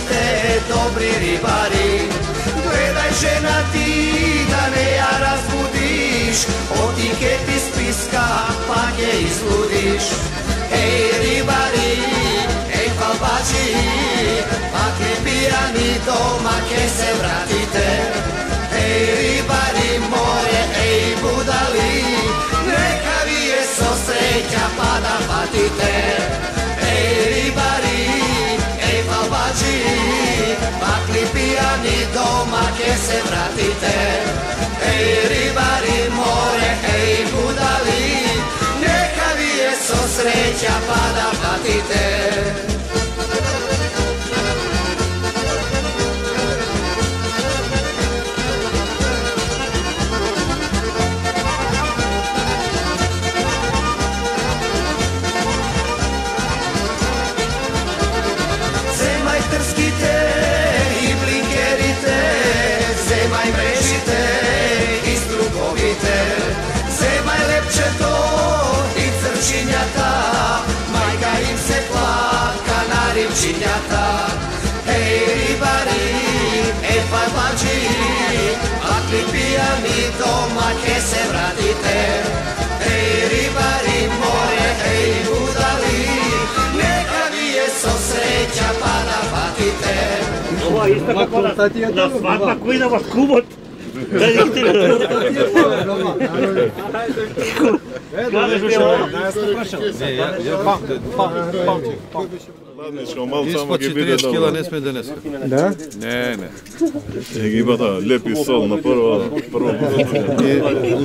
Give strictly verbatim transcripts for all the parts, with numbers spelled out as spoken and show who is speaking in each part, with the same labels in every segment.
Speaker 1: вратите, добри рибари. Гледај жена ти да не ја разбудиш, оти ке ти списка, па ке излудиш. Еј рибари, еј фалбачи, пак ли пијани дома ке се вратите. Еј рибари море, еј будали, нека ви е со среќа па да патите. Еј рибари, еј фалбачи, пак ли пијани дома ке се вратите. Еј рибари море, еј будали, нека ви е со среќа па да патите. Земај лепчето и црчињата, мајка им се плака на римчињата. Еј рибари, еј фалбачи, пак ли пијани дома ке се вратите. Еј рибари море, еј будали, нека ви е со среќа па да патите.
Speaker 2: Ова исто како на свадба кој да вас кумот.
Speaker 3: Ладничко, мал само ги биде
Speaker 4: четиридесет кила не сме денеска.
Speaker 3: Да?
Speaker 4: Не, не.
Speaker 3: Е ги бата лепи сол на прво прво.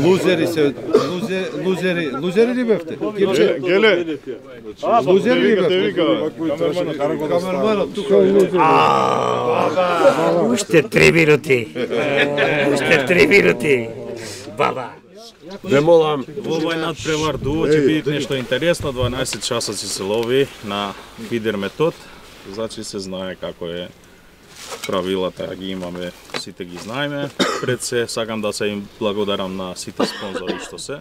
Speaker 4: Лузери се лузери лузери лузери ли бевте?
Speaker 3: Геле.
Speaker 4: Лузери ли бевте?
Speaker 3: Камерманот
Speaker 4: тука лузери.
Speaker 2: Уште три минути. Уште три минути. Баба.
Speaker 5: Ве молам,
Speaker 6: во овој надпревар дуо ќе биде нешто интересно, дванаесет часа ќе се лови на фидер метод, значи се знае како е правилата, ги имаме, сите ги знаеме. Пред се сакам да се им благодарам на сите спонзори што се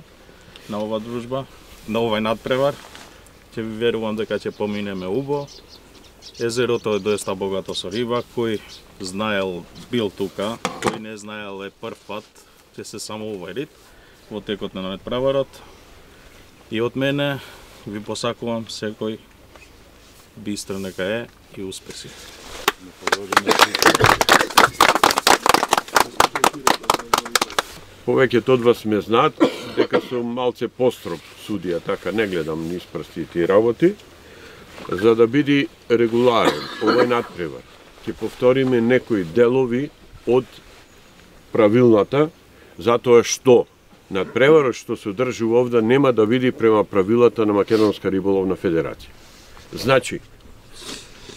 Speaker 6: на ова дружба, на овој надпревар. Ќе ви верувам дека ќе поминеме убо. Езерото е доста богато со риба, кој знаел бил тука, кој не знаел е прв пат, ќе се само уверит во текот на надпреварот. И од мене ви посакувам секој бистро нека е и успеси.
Speaker 5: повеќето од вас ме знаат дека сум малце построг судија, така не гледам низ прсти тие работи, за да биде регуларен овој надпревар. Ќе повториме некои делови од правилната, затоа што надпреварот што се одржува овде нема да биде према правилата на Македонска риболовна федерација. Значи,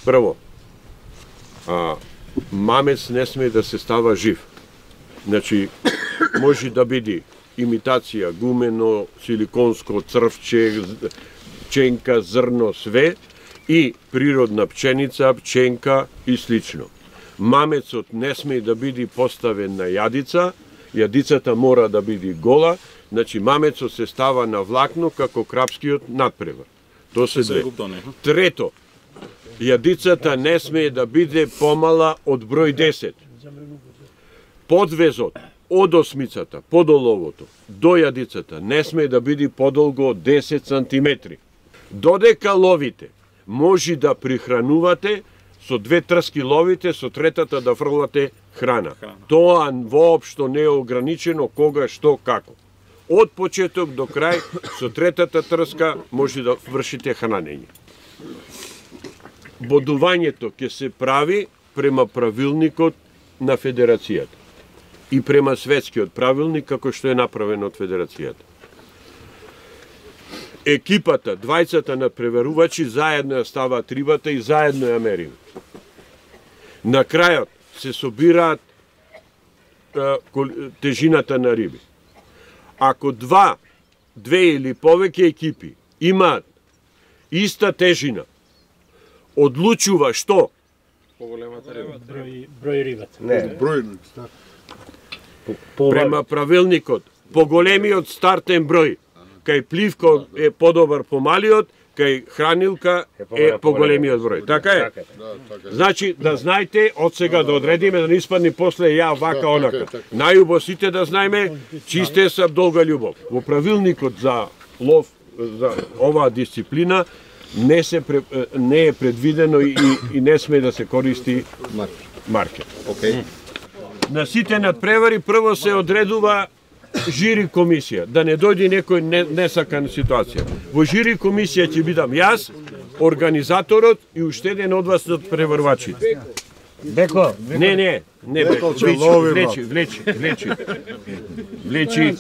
Speaker 5: прво, а, мамец не сме да се става жив. Значи, може да биде имитација, гумено, силиконско, црвче, пченка, зрно, све и природна пченица, пченка и слично. Мамецот не сме да биде поставен на јадица, јадицата мора да биде гола, значи мамецот се става на влакно како крапскиот надпревар. Тоа се две. Трето, јадицата не сме да биде помала од број десет. Подвезот од осмицата, под оловото, до јадицата не сме да биде подолго од десет сантиметри. Додека ловите, може да прихранувате, со две трски ловите, со третата да фрлате храна. храна. Тоа воопшто не е ограничено кога, што, како. Од почеток до крај, со третата трска може да вршите хранење. Бодувањето ќе се прави према правилникот на федерацијата и према светскиот правилник како што е направен од федерацијата. Екипата, двајцата надпреварувачи заедно ја ставаат рибата и заедно ја мерим. На крајот се собираат е, тежината на риби. Ако два, две или повеќе екипи имаат иста тежина, одлучува што?
Speaker 2: Поголемата риба. Број, број рибата.
Speaker 5: Не, број. Према правилникот, поголемиот стартен број, кај пливко е подобар помалиот, кај хранилка е поголемиот број. Така е? Значи, да знаете, од сега да одредиме, да не испадне после ја вака онака. Најубо сите да знаеме, чисте са долга љубов. Во правилникот за лов, за оваа дисциплина, не се не е предвидено и, и не сме да се користи маркер.
Speaker 4: Океј.
Speaker 5: На сите надпревари прво се одредува жири комисија, да не дојде некој несакана ситуација. Во жири комисија ќе бидам јас, организаторот и уште еден од вас од преварвачите.
Speaker 2: Беко,
Speaker 5: Не, не, не Беко, влечи, влечи, влечи, влечи.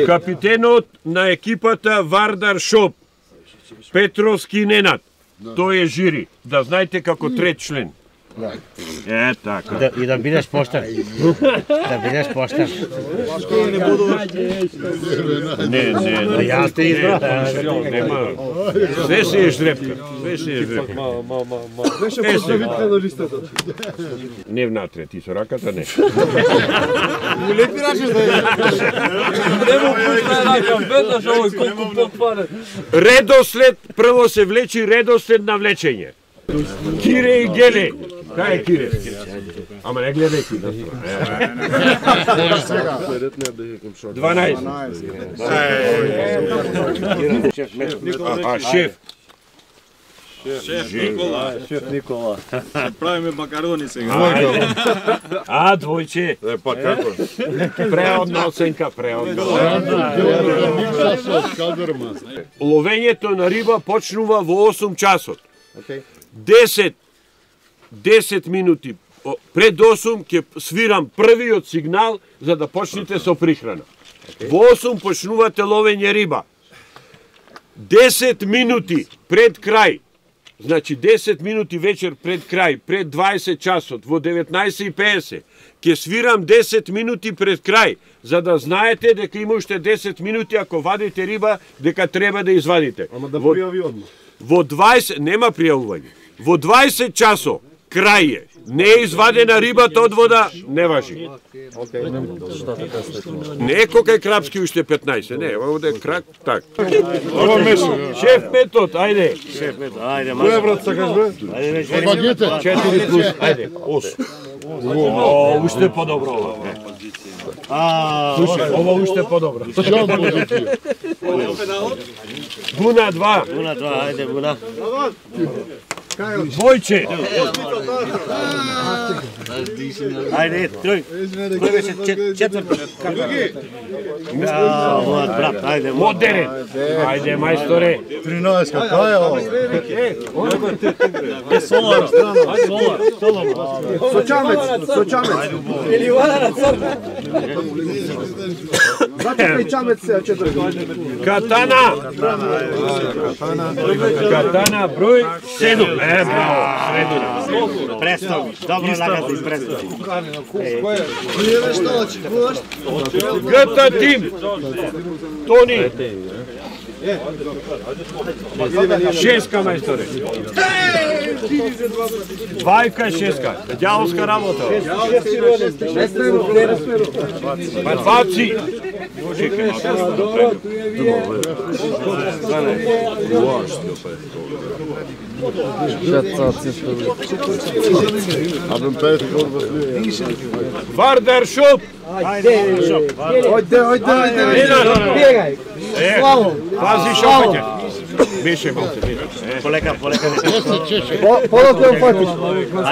Speaker 5: Капитенот на екипата Вардар Шоп, Петровски Ненад, тој е жири, да знаете како трет член. Е, така.
Speaker 2: да, и да бидеш поштен. Да бидеш поштен.
Speaker 5: Не, не, не.
Speaker 2: Јас те избрав.
Speaker 5: Нема. Све се е ждрепка. Све се е ждрепка.
Speaker 4: Беше поздравитка на листата.
Speaker 5: Не внатре, ти со раката не.
Speaker 4: Му лепи рачеш да е.
Speaker 7: Нема пушна рака, веднаш овој колку потпаде.
Speaker 5: Редослед, прво се влечи редослед на влечење. Кире и Геле. Кај е Кире? Ама не гледај ти да дванаесет. А, шеф.
Speaker 6: Шеф Никола.
Speaker 4: Шеф Никола.
Speaker 6: Правиме макарони сега.
Speaker 5: А, двојче.
Speaker 3: Е, па како?
Speaker 5: Преодна оценка, преодна. Ловењето на риба почнува во осум часот. десет десет минути пред осум ќе свирам првиот сигнал за да почнете со прихрана. Во осум почнувате ловење риба. десет минути пред крај, значи десет минути вечер пред крај, пред дваесет часот, во деветнаесет и педесет, ќе свирам десет минути пред крај, за да знаете дека има уште десет минути ако вадите риба, дека треба да извадите.
Speaker 4: Ама да
Speaker 5: Во-
Speaker 4: пријави одма.
Speaker 5: Во дваесет, нема пријавување. Во дваесет часо, крај е. Не е извадена рибата од вода, не важи. Не е кокај крапски уште петнаесет, не, овде е крак, так.
Speaker 3: Ова меше.
Speaker 5: Шеф метод, ајде.
Speaker 2: Ајде,
Speaker 3: Која брат сакаш бе? Багете.
Speaker 5: четири плюс, ајде, осум. О, уште подобро ова. Слушай, ова уште подобро.
Speaker 3: Шам позиција.
Speaker 5: Буна два,
Speaker 2: Буна, два, ајде, буна.
Speaker 5: двојче.
Speaker 2: Ајде, трој. Кој беше четврт? Ова, брат, ајде.
Speaker 5: Модерен. Ајде, мајсторе.
Speaker 4: тринаесет, кај е ова?
Speaker 7: Солар, солар, солар.
Speaker 4: Сочамец, сочамец.
Speaker 7: Или вада на црква.
Speaker 4: Зачекај чамец се, четири.
Speaker 5: Катана. Катана, број седум. Е, браво, средина.
Speaker 2: Престови. Добро нагади, престови.
Speaker 5: Гта тим. Тони. Шеска, мајсторе. Двајка, шеска. Дјаволска работа. Баци. Чекај, Вардар Шоп.
Speaker 4: Ојде, ојде, ојде.
Speaker 7: Бегај.
Speaker 5: Е, пази шопање. Беше малце.
Speaker 2: Полека, полека.
Speaker 4: Полото фатиш.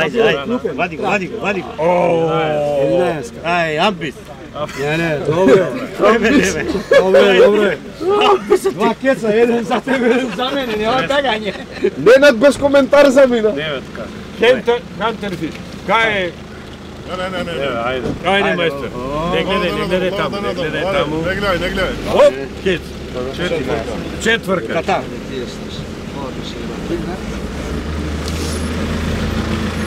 Speaker 2: Ајде, ајде. Вади го, вади го, вади го. Ај, ампис.
Speaker 7: Не, не, добро. Добро, добро. Два кеца, еден за тебе, еден за мене, нема бегање.
Speaker 4: Ненад без коментар за мина.
Speaker 5: Хентер, Хантерфиш. Кај е?
Speaker 3: Не, не, не, не.
Speaker 5: Ајде, мајстор. Не гледај, не гледај таму, не гледај таму.
Speaker 3: Не гледај, не гледај.
Speaker 5: Оп, кец. Четврка.
Speaker 2: Ката.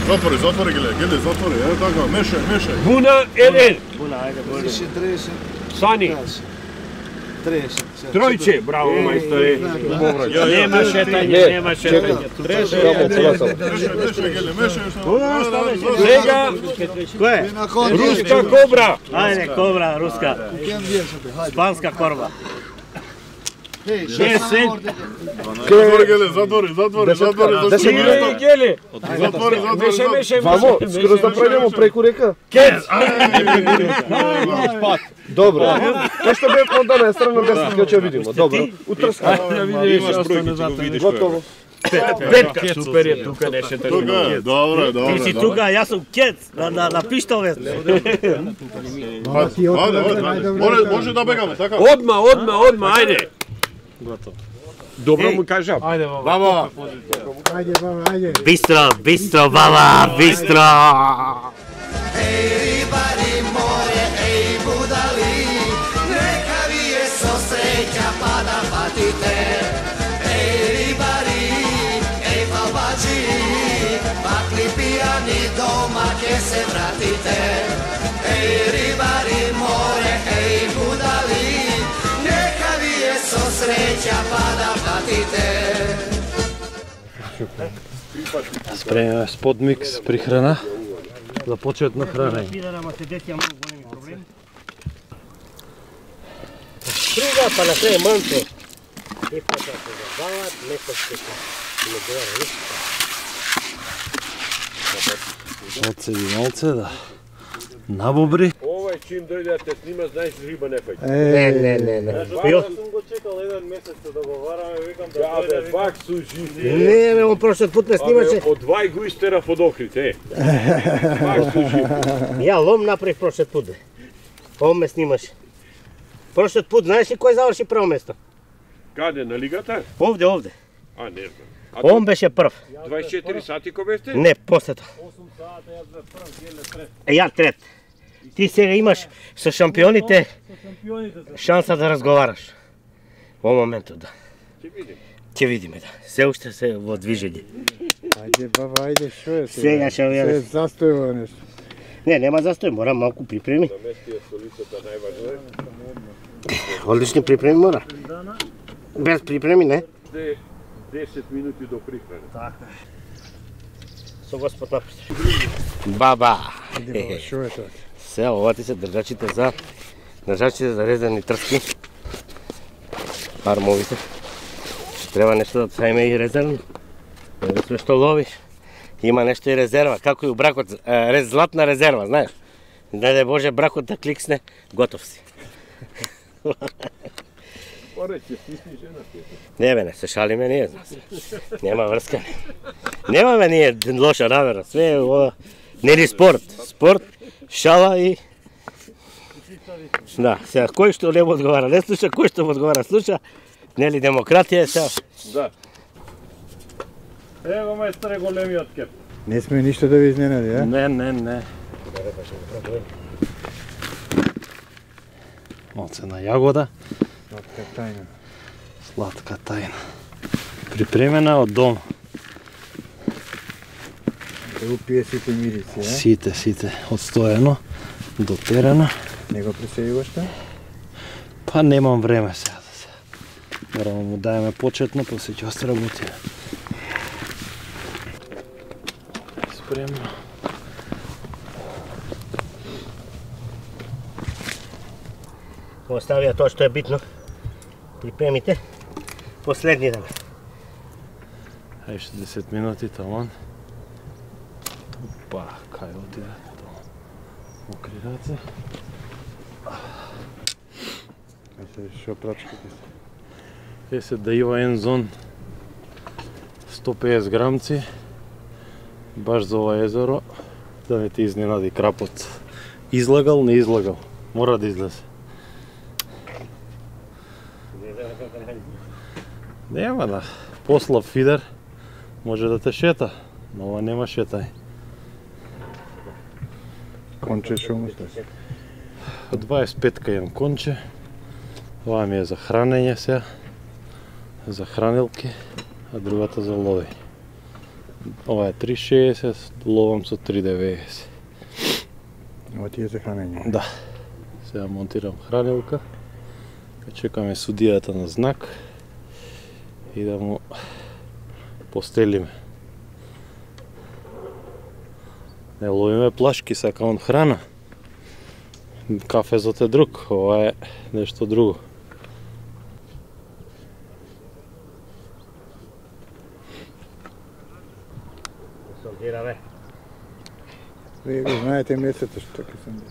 Speaker 3: Затвори, затвори, гледај, гледај, затвори. Е, така, мешај, мешај.
Speaker 5: Буна еден.
Speaker 2: Буна, ајде, буна.
Speaker 5: Сани. Тројче, браво, мајсторе. Нема шетање, нема шетање.
Speaker 3: Мешај, мешај, гледај, мешај.
Speaker 5: Сега,
Speaker 2: Кој е?
Speaker 5: руска кобра.
Speaker 2: Ајде, кобра, руска. Спанска корба. десет.
Speaker 3: Затвори, Геле, затвори, затвори, затвори, затвори.
Speaker 7: Гели.
Speaker 3: Затвори, затвори,
Speaker 7: Меше,
Speaker 3: затвори.
Speaker 7: меше,
Speaker 8: Вамо, скоро да пројдемо преку река.
Speaker 7: Кец.
Speaker 8: Добро. Тоа што бе по одна страна десет ќе видиме. Добро. Утрска.
Speaker 6: Имаш бројки, ќе го видиш.
Speaker 8: Готово.
Speaker 2: Петка, супер е тука нешто.
Speaker 3: Тука е, добро, добро.
Speaker 2: Ти си тука, јас сум кец на на на пиштове.
Speaker 3: Ајде, ајде. Може, може да бегаме, така?
Speaker 5: Одма, одма, одма, ајде.
Speaker 6: Готово.
Speaker 5: Добро му кажам.
Speaker 3: Баба.
Speaker 2: Бистро, бистро, баба, бистро.
Speaker 1: Ej ribari more, ej budali, neka vi je so sreća pa da patite. Ej ribari, ej babači, pakli pijani doma ke se vratite. Ej ribari more, ej budali, neka vi je so sreća pa da patite.
Speaker 8: Спремаме спот микс прихрана за почетно хранење.
Speaker 2: Пидара се дети многу големи проблеми. Струга па на крај манто. И па се забават, некој се не говори ништо.
Speaker 8: Оцеди малце да набобри.
Speaker 5: Овај чим дојде да те снима, знаеш риба не фаќа.
Speaker 2: Не, не, не, не. Пио?
Speaker 6: Сум го чекал еден месец да го вараме, викам да
Speaker 5: Ја бе, пак су жив.
Speaker 2: Не, бе, он прошлиот пат ме снимаше.
Speaker 5: Од двај го истерав од Охрид, е. Пак су жив.
Speaker 2: Ја лом направив прошлиот пат. Он ме снимаше. Прошлиот пат, знаеш ли кој заврши прво место?
Speaker 5: Каде, на лигата?
Speaker 2: Овде, овде.
Speaker 5: А, не знам. А
Speaker 2: Он беше прв.
Speaker 5: дваесет и четири сати ко бесте?
Speaker 2: Не, после тоа. Е, ја трет. Ти сега имаш со шампионите шанса да разговараш. Во моментот, да.
Speaker 5: Ќе видим.
Speaker 2: Ќе видиме, да. Се уште се во движење.
Speaker 7: Ајде, баба, ајде, шо е
Speaker 2: Сега ќе
Speaker 7: Се
Speaker 2: ја...
Speaker 7: застојува нешто.
Speaker 2: Не, нема застој, мора малку припреми.
Speaker 5: Наместија солицата најважно е.
Speaker 2: Одлични припреми мора. Без припреми, не.
Speaker 5: Де десет минути до прихране.
Speaker 2: Така. Со Господ напред. Баба.
Speaker 7: Ајде, шо е тоа?
Speaker 2: Се, ова ти се држачите за држачите за резани трски. Армовите. Треба нешто да сајме и резервно. Не све што ловиш. Има нешто и резерва, како и у бракот, рез, златна резерва, знаеш. Не дај Боже бракот да кликсне, готов си. Не бе, не се шалиме ние, зна се. Нема врска. Немаме ние лоша намера, све е ова. Нели спорт, спорт, шала и... Да, сега, кој што не му одговара, не слуша, кој што му одговара, слуша. Нели демократија е сега.
Speaker 5: Да.
Speaker 6: Ево мајсторе големиот кеп.
Speaker 7: Не сме ништо да ви изненади, а?
Speaker 8: Не, не, не. Малце на јагода,
Speaker 7: Сладка тајна.
Speaker 8: сладка тајна. Припремена од дома.
Speaker 7: Да упие сите мирици, а?
Speaker 8: Сите, сите, одстоено, дотерено.
Speaker 7: Не го преселиваш тоа?
Speaker 8: Па немам време сега да се. Морamo му дајаме почетно, после ќе остработиме. Спремно.
Speaker 2: Оставија тоа што е битно. Припремите. Последни ден.
Speaker 8: Ај шестдесет минути таман. Па, кај отиде? Мокри раце.
Speaker 7: Мисле, шо прачките се?
Speaker 8: Е се да има еден зон сто педесет грамци, баш за ова езеро, да не ти изненади крапот. Излагал, не излагал. Мора да излезе. Нема да. Послав фидер, може да те шета, но ова нема шетај.
Speaker 7: Конче шо му стаси?
Speaker 8: Од дваесет и пет имам конче. Ова ми е за хранење сега, за хранилки, а другата за ловење. Ова е три шеесет, ловам со три деветдесет.
Speaker 7: Ова ти е за хранење?
Speaker 8: Да. Сега монтирам хранилка. Чекаме судијата на знак и да му постелиме. Не ловиме плашки, сакам храна. Кафезот е друг, ова е нешто друго.
Speaker 2: Мираве.
Speaker 7: Вие го знаете месето што ќе сум.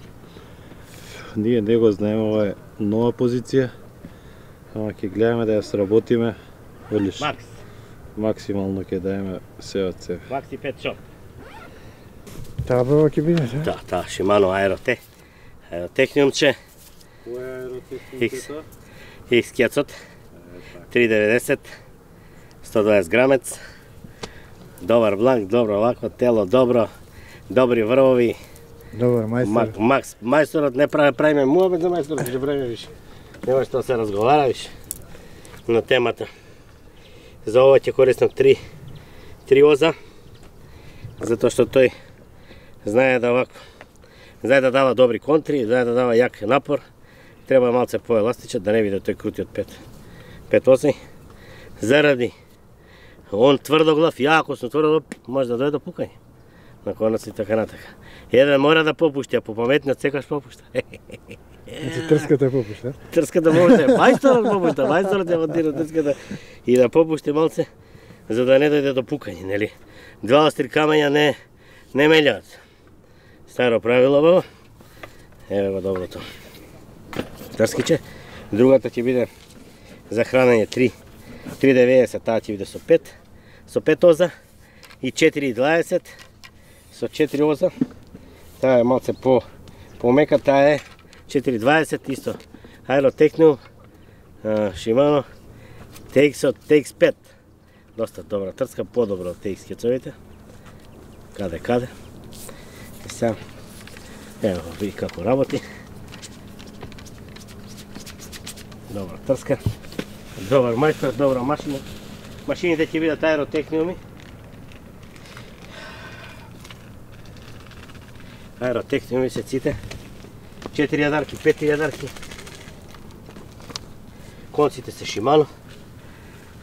Speaker 8: Ние не го знаеме, ова е нова позиција. Ама ќе гледаме да ја сработиме. Велиш.
Speaker 2: Макс.
Speaker 8: Максимално ќе даеме се од себе.
Speaker 2: Макси пет шоп.
Speaker 7: Таа бава ќе биде, се?
Speaker 2: Да, таа Shimano Aerotech. Аеротехниумче.
Speaker 8: Која е аеротехниката?
Speaker 2: X кјацот. три деветдесет. сто дваесет грамец. Добар бланк, добро вако тело, добро. Добри врвови.
Speaker 7: Добар мајстор.
Speaker 2: Мак, Макс, мајсторот не прави, правиме муабет за мајсторот, ќе правиме више. Нема што се разговара више на темата. За ова ќе користам три, три оза, затоа што тој знае да вако, знае да дава добри контри, знае да дава јак напор. Треба малце поеластичен, да не биде тој крути од пет, пет оси. Заради он тврдоглав, ја ако сум тврдоглав, може да дојде до пукање. На конец и така натака. Еден мора да попушти, а попаметниот секогаш попушта.
Speaker 7: Значи трската попушта?
Speaker 2: Трската попушта, мајсторот попушта, мајсторот ја монтира трската и да попушти малце, за да не дојде до пукање, нели? Два остри камења не не мелјаат. Старо правило баба. Еве го доброто. Трскиче. Другата ќе биде за хранење три деветдесет, таа ќе биде со пет, со пет оза и четири дваесет со четири оза. Таа е малце по помека, таа е четири дваесет исто. Аеротехниум, Shimano, T X од T X пет. Доста добра трска, подобро од T X кецовите. Каде, каде. И сега, ево, види како работи. Добра трска, добар мајстор, добра машина. Машините ќе бидат аеротехниуми. Аеротехниуми се ците. четири јадарки, пет јадарки. Конците се Shimano.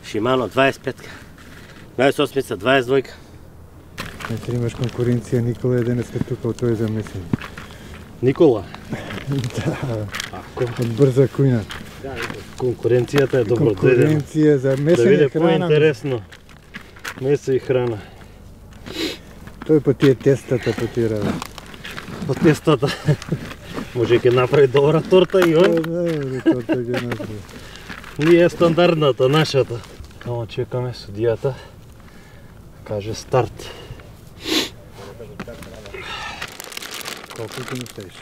Speaker 2: Shimano дваесет пет, дваесет осем, дваесет два.
Speaker 7: Значи имаш конкуренција, Никола е денеска тука од тој замислен.
Speaker 8: Никола?
Speaker 7: Да, од брза кујна.
Speaker 8: Конкуренцијата е добро дојдена.
Speaker 7: Конкуренција за
Speaker 8: Да
Speaker 7: месење
Speaker 8: биде
Speaker 7: храна.
Speaker 8: поинтересно. Месо и храна.
Speaker 7: Тој по тие тестата, по тие работи.
Speaker 8: По тестата. Може ќе направи добра торта и он.
Speaker 7: Да, торта ќе направи.
Speaker 8: Ние е стандардната, нашата. Само чекаме судијата. Каже старт.
Speaker 7: Колку ќе ми ставиш?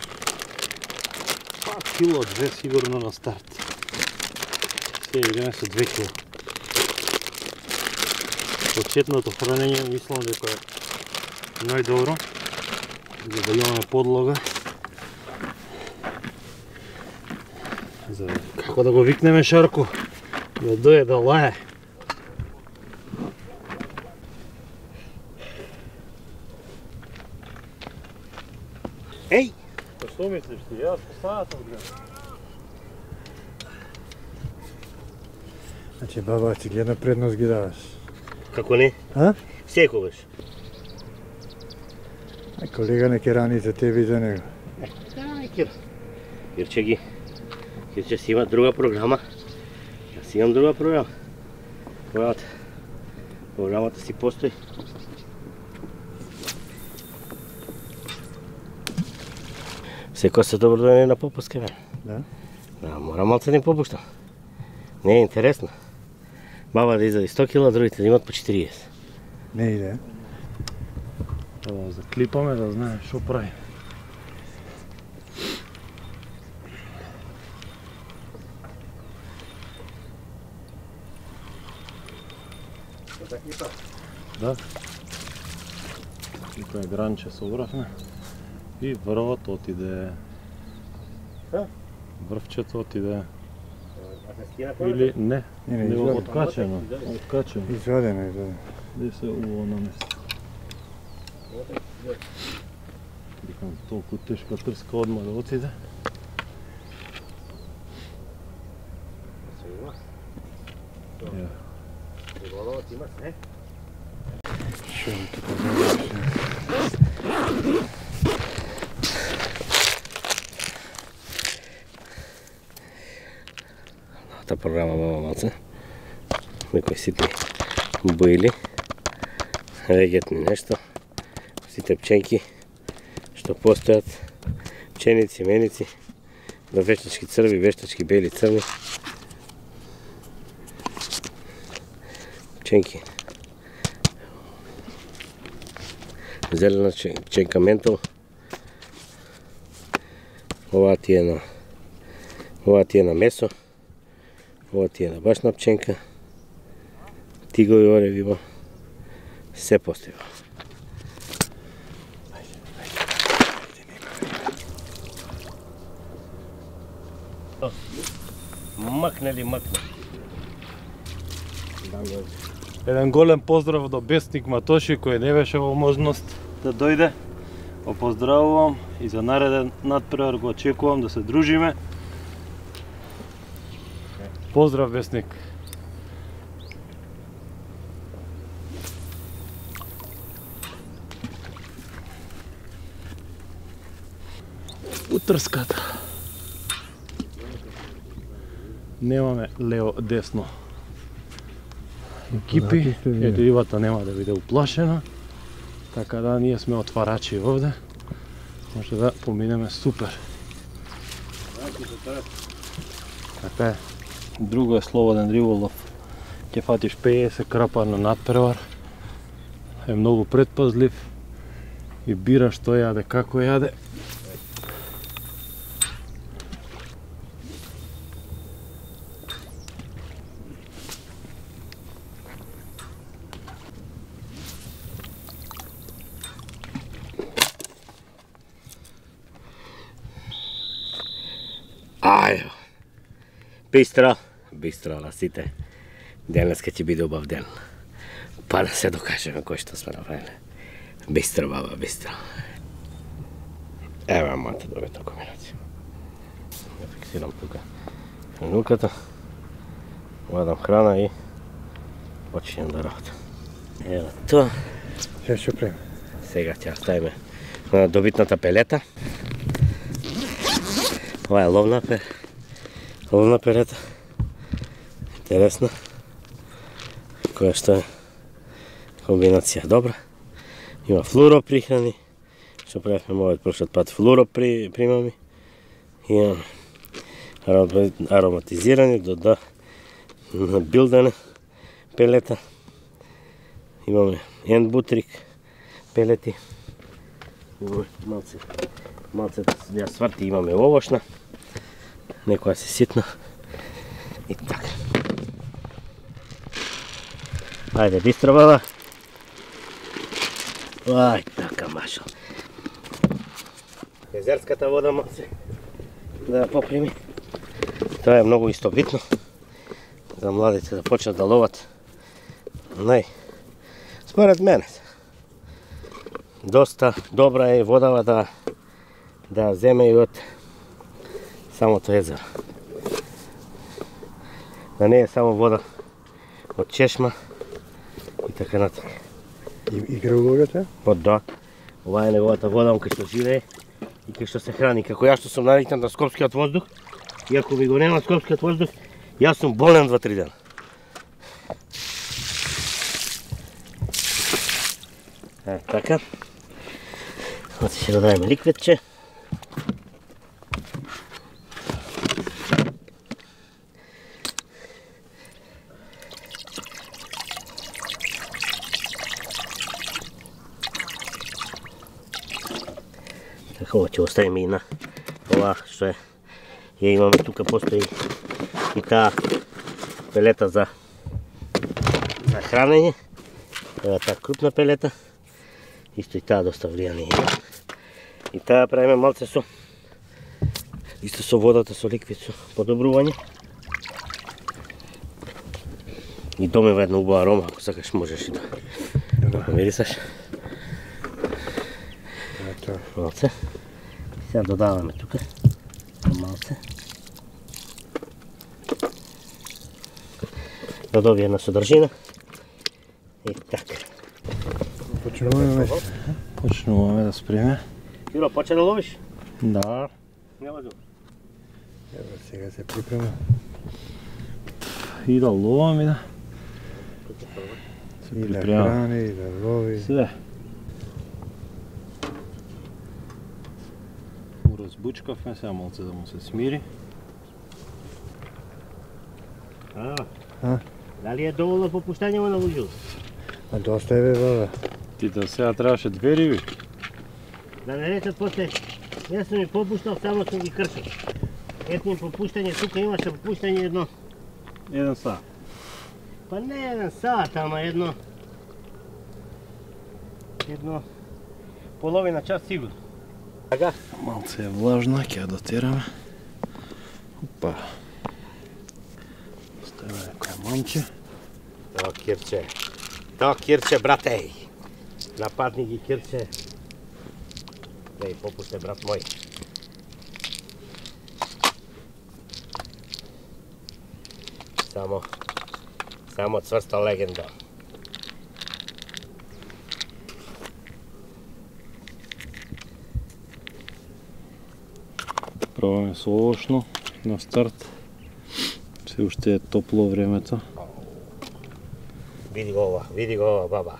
Speaker 8: Па кило, две сигурно на старт. Се играме со две кило. Почетното хранење мислам дека е најдобро. За да имаме подлога. За како да го викнеме Шарко, да дојде да лае.
Speaker 2: Еј!
Speaker 8: Па што мислиш ти? Јас поставата одгледам.
Speaker 7: Значи баба, ти гледна предност ги даваш.
Speaker 2: Како не?
Speaker 7: А?
Speaker 2: Секогаш.
Speaker 7: А колега не ке рани за тебе и за него.
Speaker 2: Ај, Кир. Кирче ги. Кирче си има друга програма. Јас имам друга програма. Програмата. Програмата си постои. Секој се добро да не на попуска, бе.
Speaker 7: Да?
Speaker 2: Да, мора малце да им попуштам. Не е интересно. Баба да изади сто кила, другите да имат по четириесет.
Speaker 7: Не иде.
Speaker 8: Да заклипаме да знаем што прави. Да. Тука е гранче собравме. И врвот отиде.
Speaker 2: А?
Speaker 8: Врвчето отиде.
Speaker 2: А се скина
Speaker 8: Или не,
Speaker 7: Не, не,
Speaker 8: не
Speaker 7: извади.
Speaker 8: откачено. Откачено.
Speaker 7: Извадено, извадено.
Speaker 8: Де се уво на место. Викам, толку тешка трска одма да отиде. Ја.
Speaker 2: Риболовот има се.
Speaker 7: Шо ми тука заврши?
Speaker 2: Та програма баба малце. Некои ситни боили. Регетни нешто. сите пченки што постојат, пченици, меници, до вештачки црви, вештачки бели, црни. Пченки. Зелена пченка ментол. Ова ти е на ова ти е на месо. Ова ти е на башна пченка. Тигови ореви има. Се постои. Макне ли макне?
Speaker 8: Еден голем поздрав до Бесник Матоши кој не беше во можност да дојде. Го поздравувам и за нареден надпревар го очекувам да се дружиме. Поздрав, Бесник. Утрската. Немаме лево десно екипи, ето ивата нема да биде уплашена, така да ние сме отварачи овде, може да поминеме супер. Така е, друго е слободен риболов, ќе фатиш пеесет крапа на надпревар, е многу предпазлив и бира што јаде, како јаде.
Speaker 2: Ајо, бистро, бистро на сите. Денеска ќе биде убав ден. Па да се докажеме кој што сме направиле. Бистро, баба, бистро. Ева мојата добитна комбинација. Ја фиксирам тука финуката. Вадам храна и починем да работам. Ева тоа.
Speaker 4: Се ќе прем.
Speaker 2: Сега ќе ставиме на добитната пелета. Ова е ловна пер, ловна перета, интересна, која што е комбинација добра. Има флуро прихрани, што правихме мојот прошлиот пат флуро при, примами. Имаме ароматизирани до да билдане пелета. Имаме ендбутрик пелети. Имаме малце, малце ја сварти, имаме овошна. Некоја се ситна. И така. Ајде, бистро, баба. Ај, така, машал. Езерската вода малце да поприми. Тоа е многу исто битно. За младите да почнат да ловат. Нај, според мене, доста добра е водава да да земе и од самото езеро. Да не е само вода од чешма и така натака.
Speaker 4: И, и кръговете?
Speaker 2: Па да. Ова е неговата вода, кај што живее и кај што се храни. Како јас што сум навикнат на скопскиот воздух, и ако ми го нема скопскиот воздух, јас сум болен два-три дена. Е, така. Оце ќе додадеме ликветче. Ова ќе оставиме и на ова што е. Ја имаме тука, постои и таа пелета за за хранење. Ева таа крупна пелета. Исто и таа доста влијание има. И таа правиме малце со исто со водата, со ликвид, со подобрување. И домева една убава арома, ако сакаш можеш и да да помирисаш. Малце. Сега додаваме тука малце. Да добие една содржина. И така.
Speaker 4: Почнуваме.
Speaker 8: Почнуваме да спреме.
Speaker 2: Јуро, почне да ловиш?
Speaker 8: Да.
Speaker 2: Нема зуб.
Speaker 4: Ево сега се припрема.
Speaker 8: И да ловам и да се
Speaker 4: И да
Speaker 8: припремам.
Speaker 4: храни, и да лови.
Speaker 8: Све. Бучкавме сега малце да му се смири.
Speaker 2: А,
Speaker 7: А?
Speaker 2: дали е доволно попуштање во навужил?
Speaker 7: А доста е бе, баба.
Speaker 8: Ти да сега требаше две риби.
Speaker 2: Да не речат после, не сум ми попуштал, само сум ги кршил. Ето им попуштање, тука имаше попуштање едно.
Speaker 8: Еден саат.
Speaker 2: Па не еден саат, ама едно... Едно... половина час сигурно. Така?
Speaker 8: Малце е влажна, ќе ја дотераме. Опа. Ставаме некоја мамче.
Speaker 2: То кирче. То кирче, брате. Нападни ги кирче. Леј, попусте, брат мој. Само... Само цврста легенда.
Speaker 8: Пробаме со овошно на старт. Се уште е топло времето.
Speaker 2: Види го ова, види го ова, баба.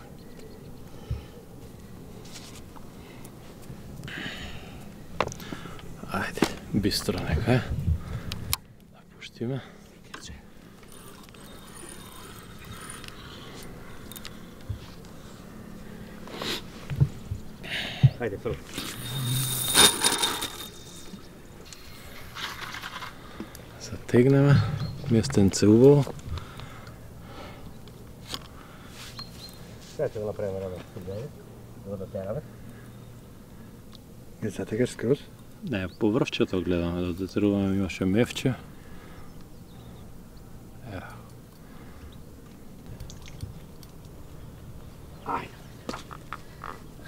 Speaker 8: Ајде, бистро нека е. Да пуштиме.
Speaker 2: Ајде, прво.
Speaker 8: Затегнеме. Местенце убаво.
Speaker 2: Сега ќе го направиме рано студење. Го дотераме.
Speaker 7: Не затегаш скроз?
Speaker 8: Не, по врвчето гледаме да дотеруваме, имаше мевче. Ево.
Speaker 2: Ајде.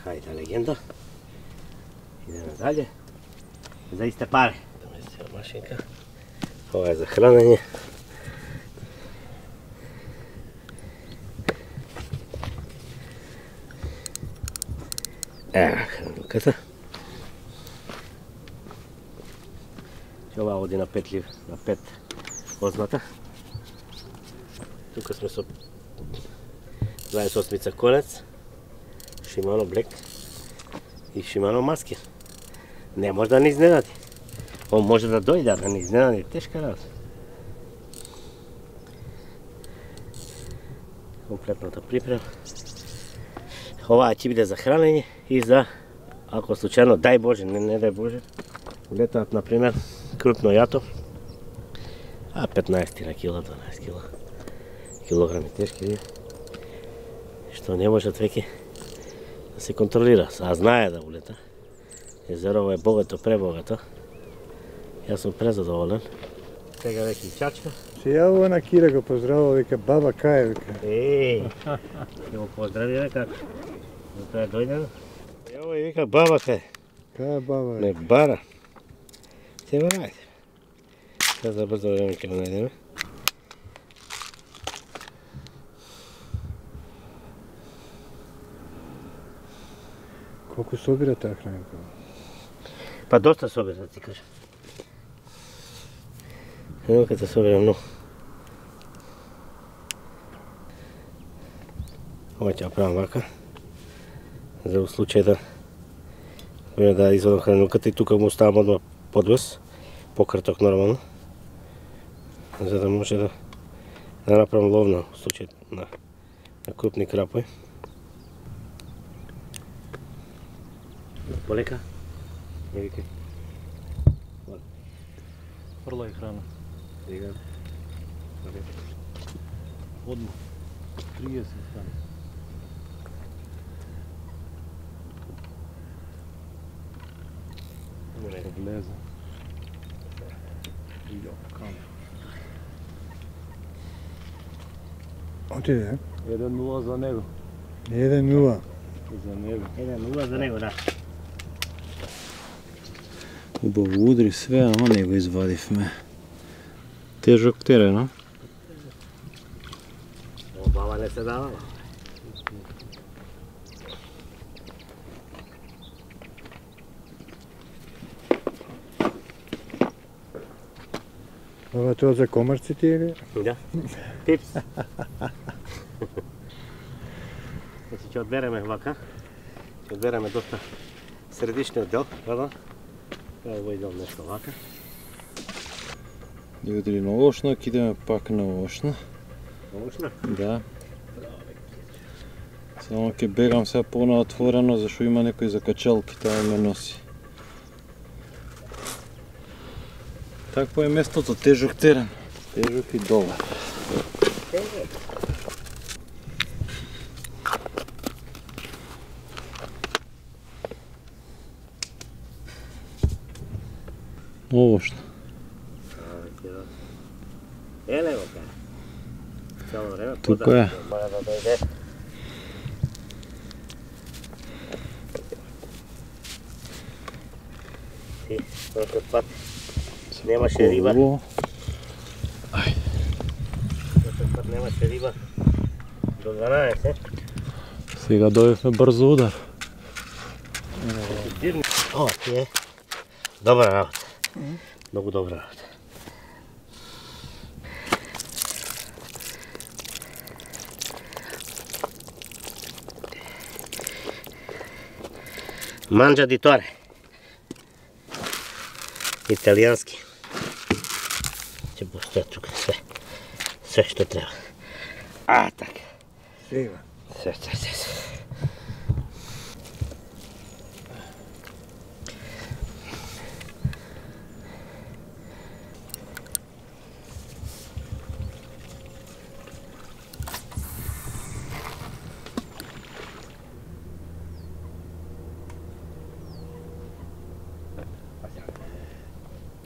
Speaker 2: Хајде, легенда. Идеме далje. За исте пари. Да местиме машинка. Ова е за хранење. Ева хранилката. Ова оди на пет лив, на пет озната. Тука сме со дваесет осмица конец, Shimano Black и Shimano Maskir. Не може да не изненади. Он може да дојде, да не изненади. Тешка работа. Комплетната припрема. Ова ќе биде за хранење и за, ако случајно, дај Боже, не, не дај Боже, летаат, например, крупно јато, а петнаесет на кила, дванаесет кила, килограми тешки риби, што не можат веќе да се контролира, а знае да улета. Езерово е богато, пребогато. Јас сум презадоволен. Сега веќе и чачка.
Speaker 7: Се јавува на Кира, го поздравува, вика, баба кај, вика.
Speaker 2: Еј, ќе го поздравиме како. Тоа е дојдено. Ево и вика, баба кај.
Speaker 7: Кај баба?
Speaker 2: Не бара. Се го најде. Сега за брзо време ќе го најдеме.
Speaker 7: Колку собира таа хранка?
Speaker 2: Па доста собира, да ти кажам. Ево кај собира многу. Ова ќе ја правам вака. За у случај да време да извадам хранилката и тука му оставам одма подвес, пократок нормално, за да може да, да направам ловна у случај на, на крупни крапои. Полека? Не викај.
Speaker 8: Фрлај храна.
Speaker 2: Сега.
Speaker 8: Одма. триесет храна. Влезе. Јо, кам.
Speaker 7: Отиде,
Speaker 8: еден нула за него.
Speaker 7: еден нула.
Speaker 8: За него.
Speaker 2: еден нула за него, да.
Speaker 8: Убаво удри све, ама не го извадивме. Тежок терен, а?
Speaker 2: Обава не се давала.
Speaker 7: Ова тоа за комарците или?
Speaker 2: Да. Типс. Значи ќе одбереме вака. Ќе одбереме доста средишниот дел, гледа. Ево идам нешто вака.
Speaker 8: Дојдели на Ошнак, идеме пак на Ошна.
Speaker 2: Ошна?
Speaker 8: Да. Само ќе бегам сега понаотворено, зашто има некои закачалки, таа ме носи. Такво е местото, тежок терен. Тежок и добар. Ошна.
Speaker 2: Еле го ка. Цело време
Speaker 8: Тука е.
Speaker 2: Мора да дојде. Ти, прошлиот пат немаше риба.
Speaker 8: Ајде.
Speaker 2: Прошлиот пат немаше риба. До дванаесет.
Speaker 8: Сега дојдевме брзо удар.
Speaker 2: Ова ти е добра работа. Многу добра работа. Манджа ди торе. Италијански. Ќе постои тука све. Све што треба. А, така.
Speaker 7: Сега.
Speaker 2: Све, све, све, све.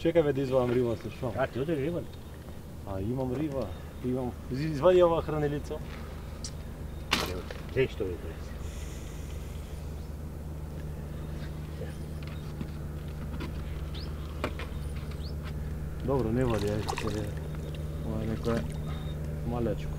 Speaker 8: Чекај бе да извадам риба се шо.
Speaker 2: А, ти одеш риба?
Speaker 8: А, имам риба. Имам. Извади ова хранилица.
Speaker 2: Дей што ви донесе.
Speaker 8: Добро, не вади, ајде ќе. Ова е некое малечко.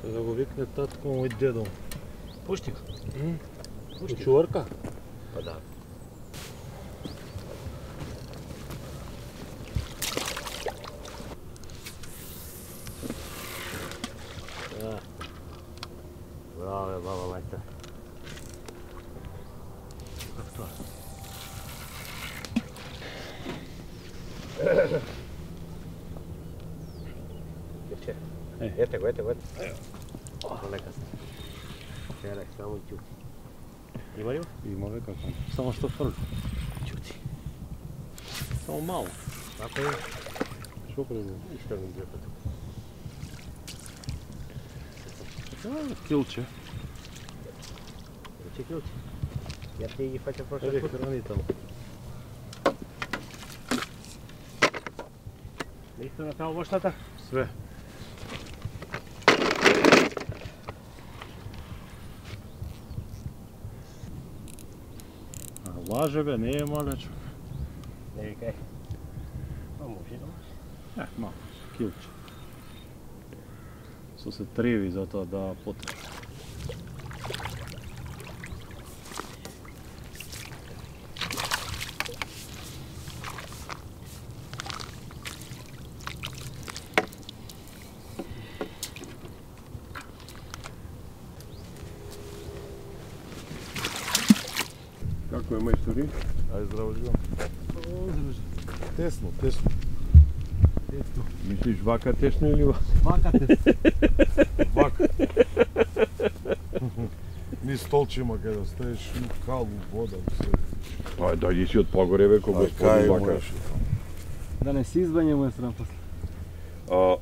Speaker 8: Да го викне татко мој дедо.
Speaker 2: Пушти го.
Speaker 8: Пушти. Чуварка?
Speaker 2: Па да. Браво, баба мајта. Како тоа? Ете го, ете го, ете. Полека се. Черай, само и ќути. Има ли?
Speaker 8: Има бе како. Само што фрли.
Speaker 2: Ќути.
Speaker 8: Само мало.
Speaker 2: Ако е,
Speaker 8: Што прези?
Speaker 2: исто ми гледа тука.
Speaker 8: Килче.
Speaker 2: Ключи, ключи. Я ти ги фаќам прошла
Speaker 8: Еде
Speaker 2: пут.
Speaker 8: хранително.
Speaker 2: Исто на таа вошната?
Speaker 8: Све. А лаже бе, не е малечко.
Speaker 2: Не викај. А може да може.
Speaker 8: Е, мало. Килче. Со се треви за тоа да потре.
Speaker 5: Како е мајстори?
Speaker 4: Ајде здраво живам. Тесно, тесно.
Speaker 5: Мислиш вака тесно или вака?
Speaker 7: Вака те.
Speaker 4: Вака. Ни столче има кај да стоиш, калу, вода, се.
Speaker 5: Па дојди си од погоре бе, кога
Speaker 4: Ај, кај
Speaker 5: господи вака.
Speaker 4: можеш.
Speaker 7: Да не се избањаме е срам после.
Speaker 5: А,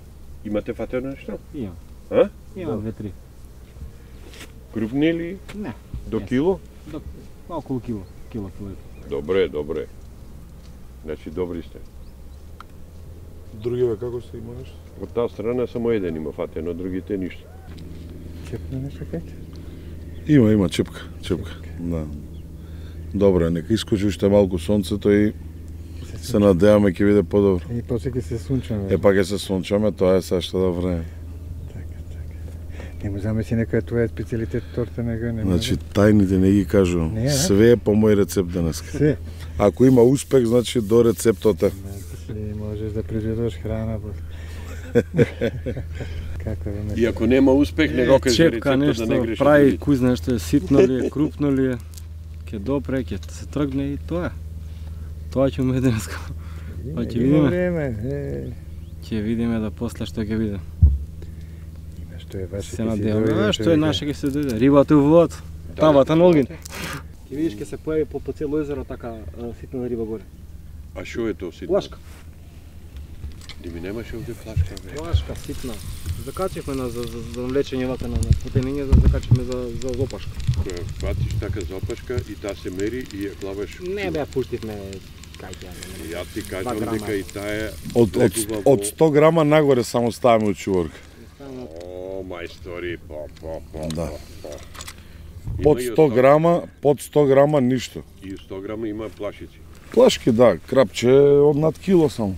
Speaker 5: имате фатено нешто?
Speaker 7: Имам.
Speaker 5: А?
Speaker 7: Имам две-три.
Speaker 5: Крупни или?
Speaker 7: Не.
Speaker 5: До
Speaker 7: Не.
Speaker 5: кило?
Speaker 7: До околу кило. Кило, кило. и пол.
Speaker 5: Добре, добре. Значи добри сте.
Speaker 4: Други бе, како се има нешто?
Speaker 5: Од таа страна само еден има фатено, другите ништо.
Speaker 8: Чепна нешто кај?
Speaker 4: Има, има чепка, чепка. Да. Добро, нека искочи уште малку сонцето и се надеваме ќе биде подобро.
Speaker 7: И после ќе се сунчаме.
Speaker 4: Е, па ќе се сончаме, тоа е сега што да време.
Speaker 7: Така, така. Нему замеси некоја твоја специјалитет торта нега нема.
Speaker 4: Значи тајните не ги кажувам.
Speaker 7: Не,
Speaker 4: Све е по мој рецепт денеска.
Speaker 7: Се.
Speaker 4: Ако има успех, значи до рецептота.
Speaker 7: Значи можеш да произведуваш храна. Како е?
Speaker 5: И ако нема успех, не го кажи рецептот
Speaker 9: нешто,
Speaker 5: да не греши.
Speaker 9: прави куз нешто е ситно ли е, крупно ли е, ќе допре, ќе се тргне и тоа е. Тоа ќе умеде денеска. Па ќе видиме. Ќе видиме да после што ќе видиме.
Speaker 7: Што е ваше
Speaker 9: се надеваме, што е наше ќе се дојде. Рибата у водата, тавата на огин.
Speaker 10: Ќе видиш ќе се појави по, по цело езеро така ситна риба горе.
Speaker 5: А што е тоа ситно?
Speaker 10: Плашка.
Speaker 5: Ди ми немаше овде плашка, бе.
Speaker 10: Плашка ситна. Закачивме на за, за, за навлечење вака на, на потениње, за закачивме за за зопашка.
Speaker 5: Која фатиш така зопашка и таа се мери и ја клаваш.
Speaker 10: Не бе, пуштивме кај ќе.
Speaker 5: Ја ти кажам дека и таа е
Speaker 4: од од од сто грама нагоре само ставаме од чуварка.
Speaker 5: О, мајстори, по, по, по,
Speaker 4: Да.
Speaker 5: по, по.
Speaker 4: Под сто грама, под сто грама ништо.
Speaker 5: И сто грама има плашици.
Speaker 4: Плашки, да, крапче од над кило само.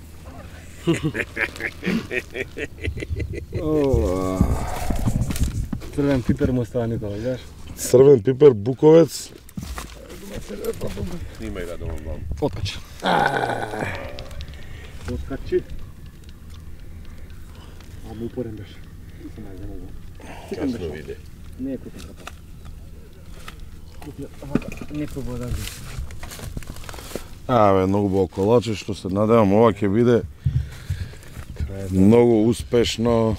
Speaker 10: Црвен пипер му става Никола, знаеш?
Speaker 4: Црвен пипер, буковец.
Speaker 5: Снимај да домам вам.
Speaker 10: Откачи. Откачи. А му упорен беше.
Speaker 5: Касно виде.
Speaker 10: Не е купен капа. Не пробува да ги.
Speaker 4: Абе, многу бо колаче, што се надевам ова ќе биде многу успешно.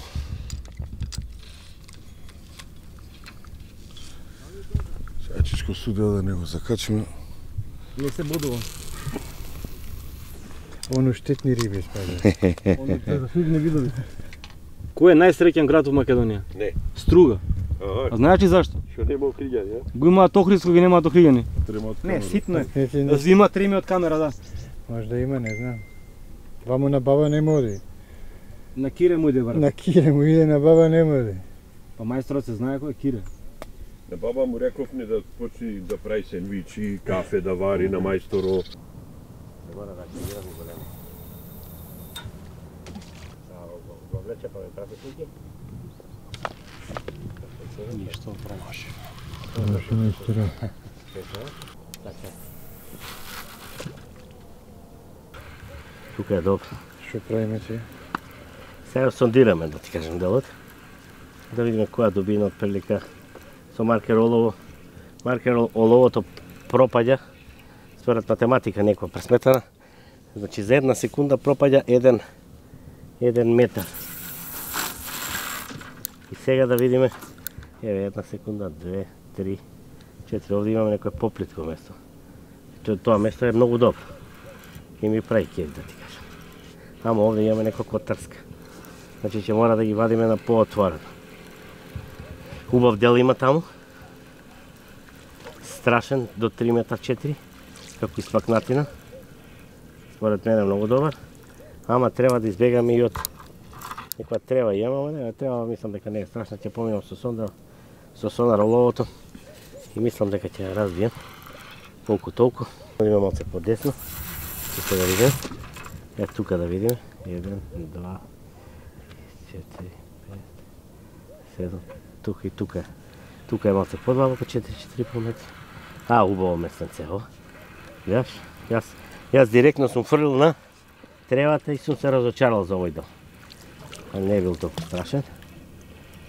Speaker 4: Сега чичко судија да не го закачиме.
Speaker 10: Не се будува.
Speaker 7: Оно штетни риби спаѓа.
Speaker 10: Оно за судни видови. Кој е најсреќен град во Македонија?
Speaker 5: Не.
Speaker 10: Струга.
Speaker 5: Ага.
Speaker 10: А знаеш ли зашто?
Speaker 5: Што нема охриѓани, а?
Speaker 10: Го имаат Охридско, ги немаат охриѓани.
Speaker 7: Не,
Speaker 10: ситно е.
Speaker 7: Да
Speaker 10: Има трими од камера, да.
Speaker 7: Може да има, не знам. Ваму на баба не моди.
Speaker 10: На Кире му иде, брат.
Speaker 7: На Кире му иде, на баба не моди.
Speaker 10: Па мајсторот се знае кој е Кире.
Speaker 5: На баба му рековме да почни да прави сендвичи, кафе да вари на мајсторо.
Speaker 2: Не мора да активирам и големо. Го влече па ме прати слики.
Speaker 8: Ништо промаши.
Speaker 7: Промаши мајстора.
Speaker 2: Тука е добро.
Speaker 7: Што правиме се?
Speaker 2: Сега сондираме, да ти кажем делот. Да видиме која дубина од прилика со маркер олово. Маркер оловото пропаѓа според математика некоја пресметана. Значи за една секунда пропаѓа еден еден метар. И сега да видиме, еве една секунда, две, три, четири, овде имаме некој поплитко место. Тоа место е многу добро. И ми прави кеф, да ти кажам. Ама овде имаме некоја котарска. Значи ќе мора да ги вадиме на поотворено. Убав дел има таму. Страшен, до три метра четири, како испакнатина. Според мене многу добар. Ама треба да избегаме и од некоја трева имаме, не, трева мислам дека не е страшна, ќе поминам со сондар, со сонар оловото и мислам дека ќе ја разбием колку толку. Има малце подесно, ќе се да видим. Е тука да видиме, еден, два, четири, пет, седум, тука и тука. Тука е малце подлабоко, четири четири и пол метри. А, убаво местенце, ова. Видаш? Јас, јас директно сум фрлил на тревата и сум се разочарал за овој дел. А не е бил толку страшен.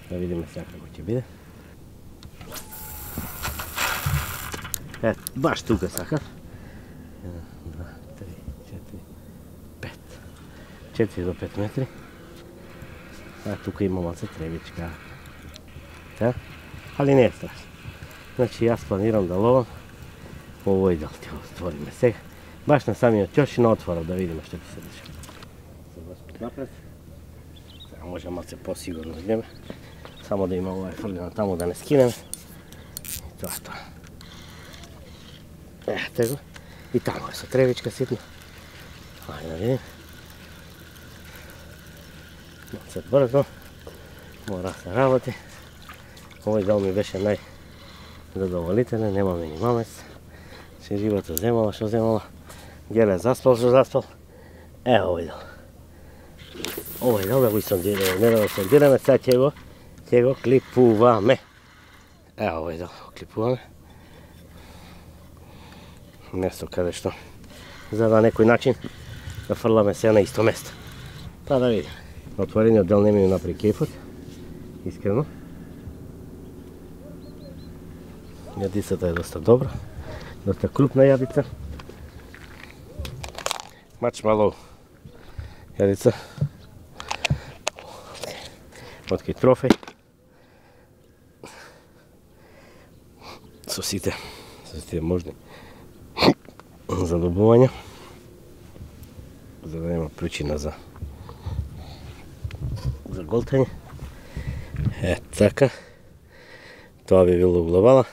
Speaker 2: Да видиме сега како ќе биде. Е, баш тука сакав. еден, два, три, четири, пет. четири до пет метри. А тука има малце тревичка. Та? Али не е страшно. Значи јас планирам да ловам овој дел ќе го створиме сега. Баш на самиот ќош и на отворот да видиме што ќе се дешава. Се напред. Сега може малце посигурно идеме. Само да има овај фрлина таму да не скинеме. И тоа е тоа. Ете го. И таму е со тревичка ситна. Ајде да видим. Малце брзо. Мора да се работи. Овој дел ми беше нај задоволителен, немаме ни мамец. Се рибата земала, што земала. Геле заспал, што заспал. Е, овој дел. Овој дел да го сондираме, не да го сондираме, сега ќе го, ќе Ќе го клипуваме. Ево овој дел го клипуваме. Место каде што за на некој начин да фрламе се на исто место. Па да видиме. Отворениот дел не ми напри кефот. Искрено. Јадицата е доста добра. Доста крупна јадица. Маршмелоу јадица. Откај трофеј. Со сите, со сите можни задобувања, за да нема причина за за голтање. Е, така. Тоа би било глобала.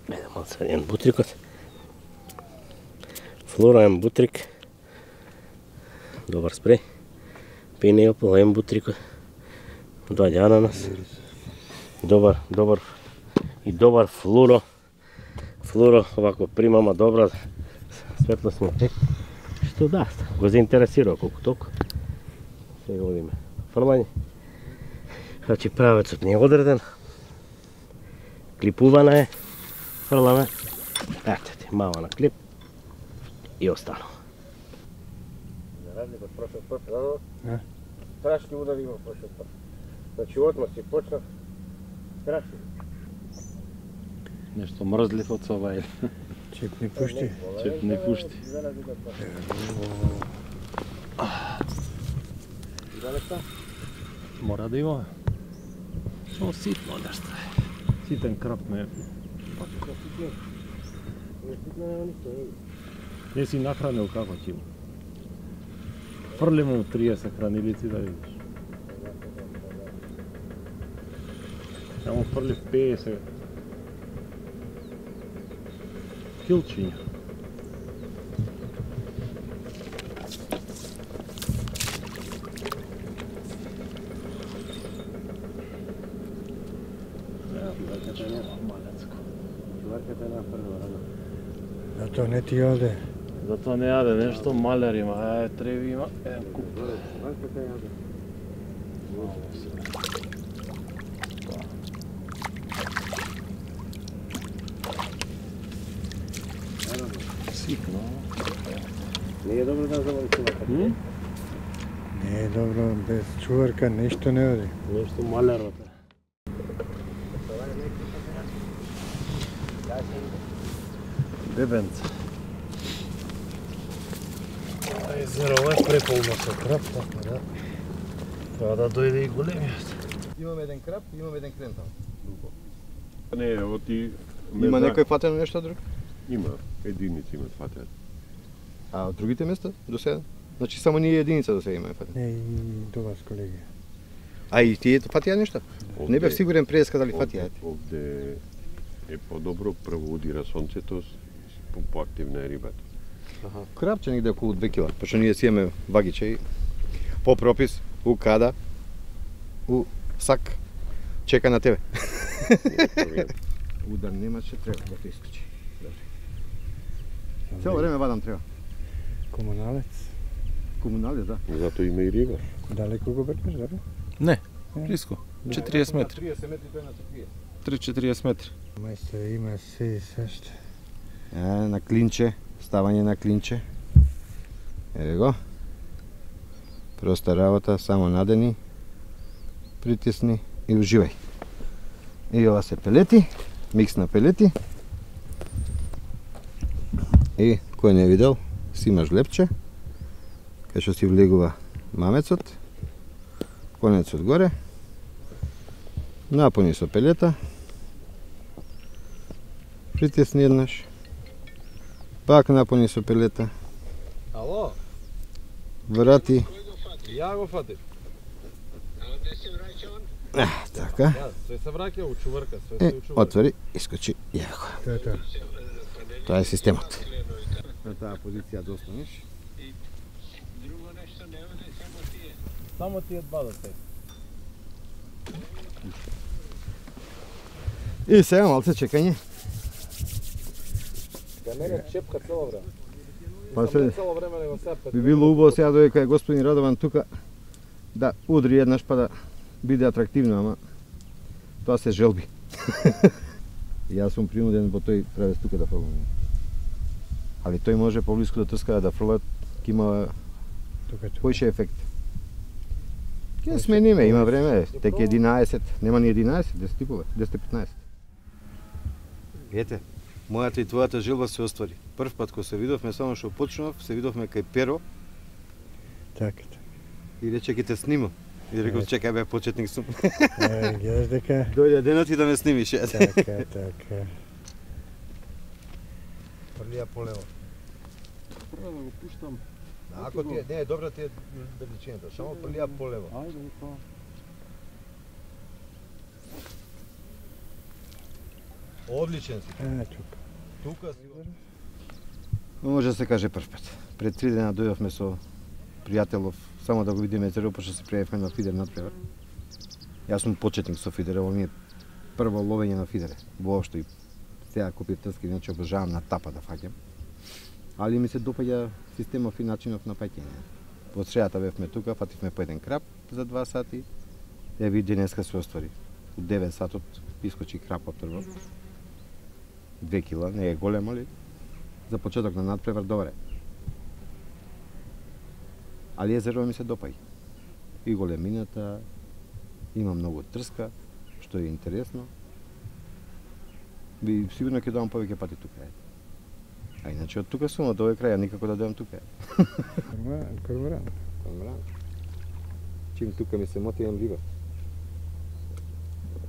Speaker 2: Едем одсаден бутрикот. Флора ем бутрик. Добар спреј. Пинеопол ем бутрикот. Доаѓа ананас. Добар, добар и добар флуро. Флуро овако примама добра светлосни ефект. Што да, го заинтересира колку толку. Сега одиме фрлање. Значи правецот не е одреден. Клипувана е. Фрламе. Ете ти, мала на клип. И останува. За разлика од прошлиот пат, да? Страшни удари има прошлиот пат. Значи одма си почнав. Страшни.
Speaker 8: Нешто мрзлив од сова или?
Speaker 9: Чеп не пушти.
Speaker 8: Чеп не пушти. Мора да има. Само ситно нешто е. Ситен крап ме. Не си нахранил како ќе има. Фрли му триесет хранилици да видиш. Само фрли петдесет. Килчиња.
Speaker 9: Зато не ти јаде.
Speaker 8: Зато не јаде, нешто малер има, ај треви има, еден куп. Ситно.
Speaker 2: Не е добро да заводи чуварка.
Speaker 9: Не е добро, без чуварка нешто не оди.
Speaker 8: Нешто малерот е. Бебенце. Езерово е преполно со крап, така да. Треба да дојде и големиот.
Speaker 11: Имаме еден крап, имаме еден крентал.
Speaker 5: Не, ево ти...
Speaker 11: Има некој фатено нешто друго?
Speaker 5: Има, единици имат фатено.
Speaker 11: А од другите места до сега? Значи само ние единица до сега имаме фатено.
Speaker 9: Не, и до вас, колеги.
Speaker 11: А и тие фатија нешто? Не бев сигурен пред сказали фатија.
Speaker 5: Овде е подобро, прво удира сонцето, поактивна е рибата.
Speaker 11: Аха. Крапче негде околу две кила, пошто ние си имаме вагиче и по пропис, у када, у сак, чека на тебе. Удар немаше, треба да те искачи. Цело време вадам треба.
Speaker 9: Комуналец.
Speaker 11: Комуналец, да.
Speaker 5: Зато има и риба.
Speaker 9: Далеко го бркаш, да?
Speaker 12: Не, близко. четириесет метри.
Speaker 11: триесет метри тој на четириесет.
Speaker 12: три-четириесет метри.
Speaker 9: Мајстор има се и сешто.
Speaker 11: Е, на клинче, ставање на клинче. Еве го. Проста работа, само надени, притисни и уживај. И ова се пелети, микс на пелети. И кој не видел, си имаш лепче, кај што си влегува мамецот, конецот горе, напуни со пелета, притисни еднаш, пак напуни со пелета, Ало?
Speaker 12: Врати.
Speaker 11: Ја го фатив.
Speaker 12: А, така.
Speaker 11: Све се враќа у чуварка, све
Speaker 12: Е,
Speaker 11: се у чуварка.
Speaker 12: отвори, искочи, јави го.
Speaker 9: Тоа е тоа.
Speaker 12: Тоа е системот.
Speaker 11: На таа позиција да останеш.
Speaker 8: Само тие два да се.
Speaker 11: И сега малце чекање.
Speaker 8: Да мене чепка цело време.
Speaker 11: Па се, би било убаво сега додека е господин Радован тука да удри еднаш па да биде атрактивно, ама тоа се желби. Јас сум принуден во тој правец тука да фрлам. Али тој може поблиску да трска да фрлат, ќе има поише ефект. Ќе смениме, има време, тек единаесет, нема ни единаесет, десет и половина, десет и петнаесет. Ете, мојата и твојата желба се оствари. Прв пат кога се видовме, само што почнав, се видовме кај Перо.
Speaker 13: Така, така.
Speaker 11: И рече ќе те снимам. И рекол, чекај бе, почетник сум.
Speaker 13: Е, гледаш дека...
Speaker 11: Дојде денот и да ме снимиш.
Speaker 13: Така, така.
Speaker 11: Фрлија полево.
Speaker 6: Прво да го пуштам.
Speaker 11: Ако ти е, не е добра ти е величината, само фрлија полево.
Speaker 6: Ајде, па.
Speaker 11: Одличен си.
Speaker 13: Е, тука.
Speaker 11: Тука си. Може да се каже прв пат. Пред три дена дојдовме со пријателов, само да го видиме езеро, пошто се пријавивме на фидер надпревар. Јас сум почетник со фидер, ово ми е прво ловење на фидере. Воопшто и сега купив трски, иначе обожавам на тапа да фаќам. Али ми се допаѓа системов и начинов на паќање. По средата бевме тука, фативме по еден крап за два сати. Еви денеска се оствари. У девет сатот искочи крапот прво. Две кила, не е голем, али за почеток на надпревар добре. Али езеро ми се допаѓа. И големината, има многу трска, што е интересно. Би сигурно ќе доам повеќе пати тука. А иначе од тука сум, од овој крај, никако да доам тука.
Speaker 13: Корморан, корморан.
Speaker 11: Корморан. Чим тука ми се моти, имам риба.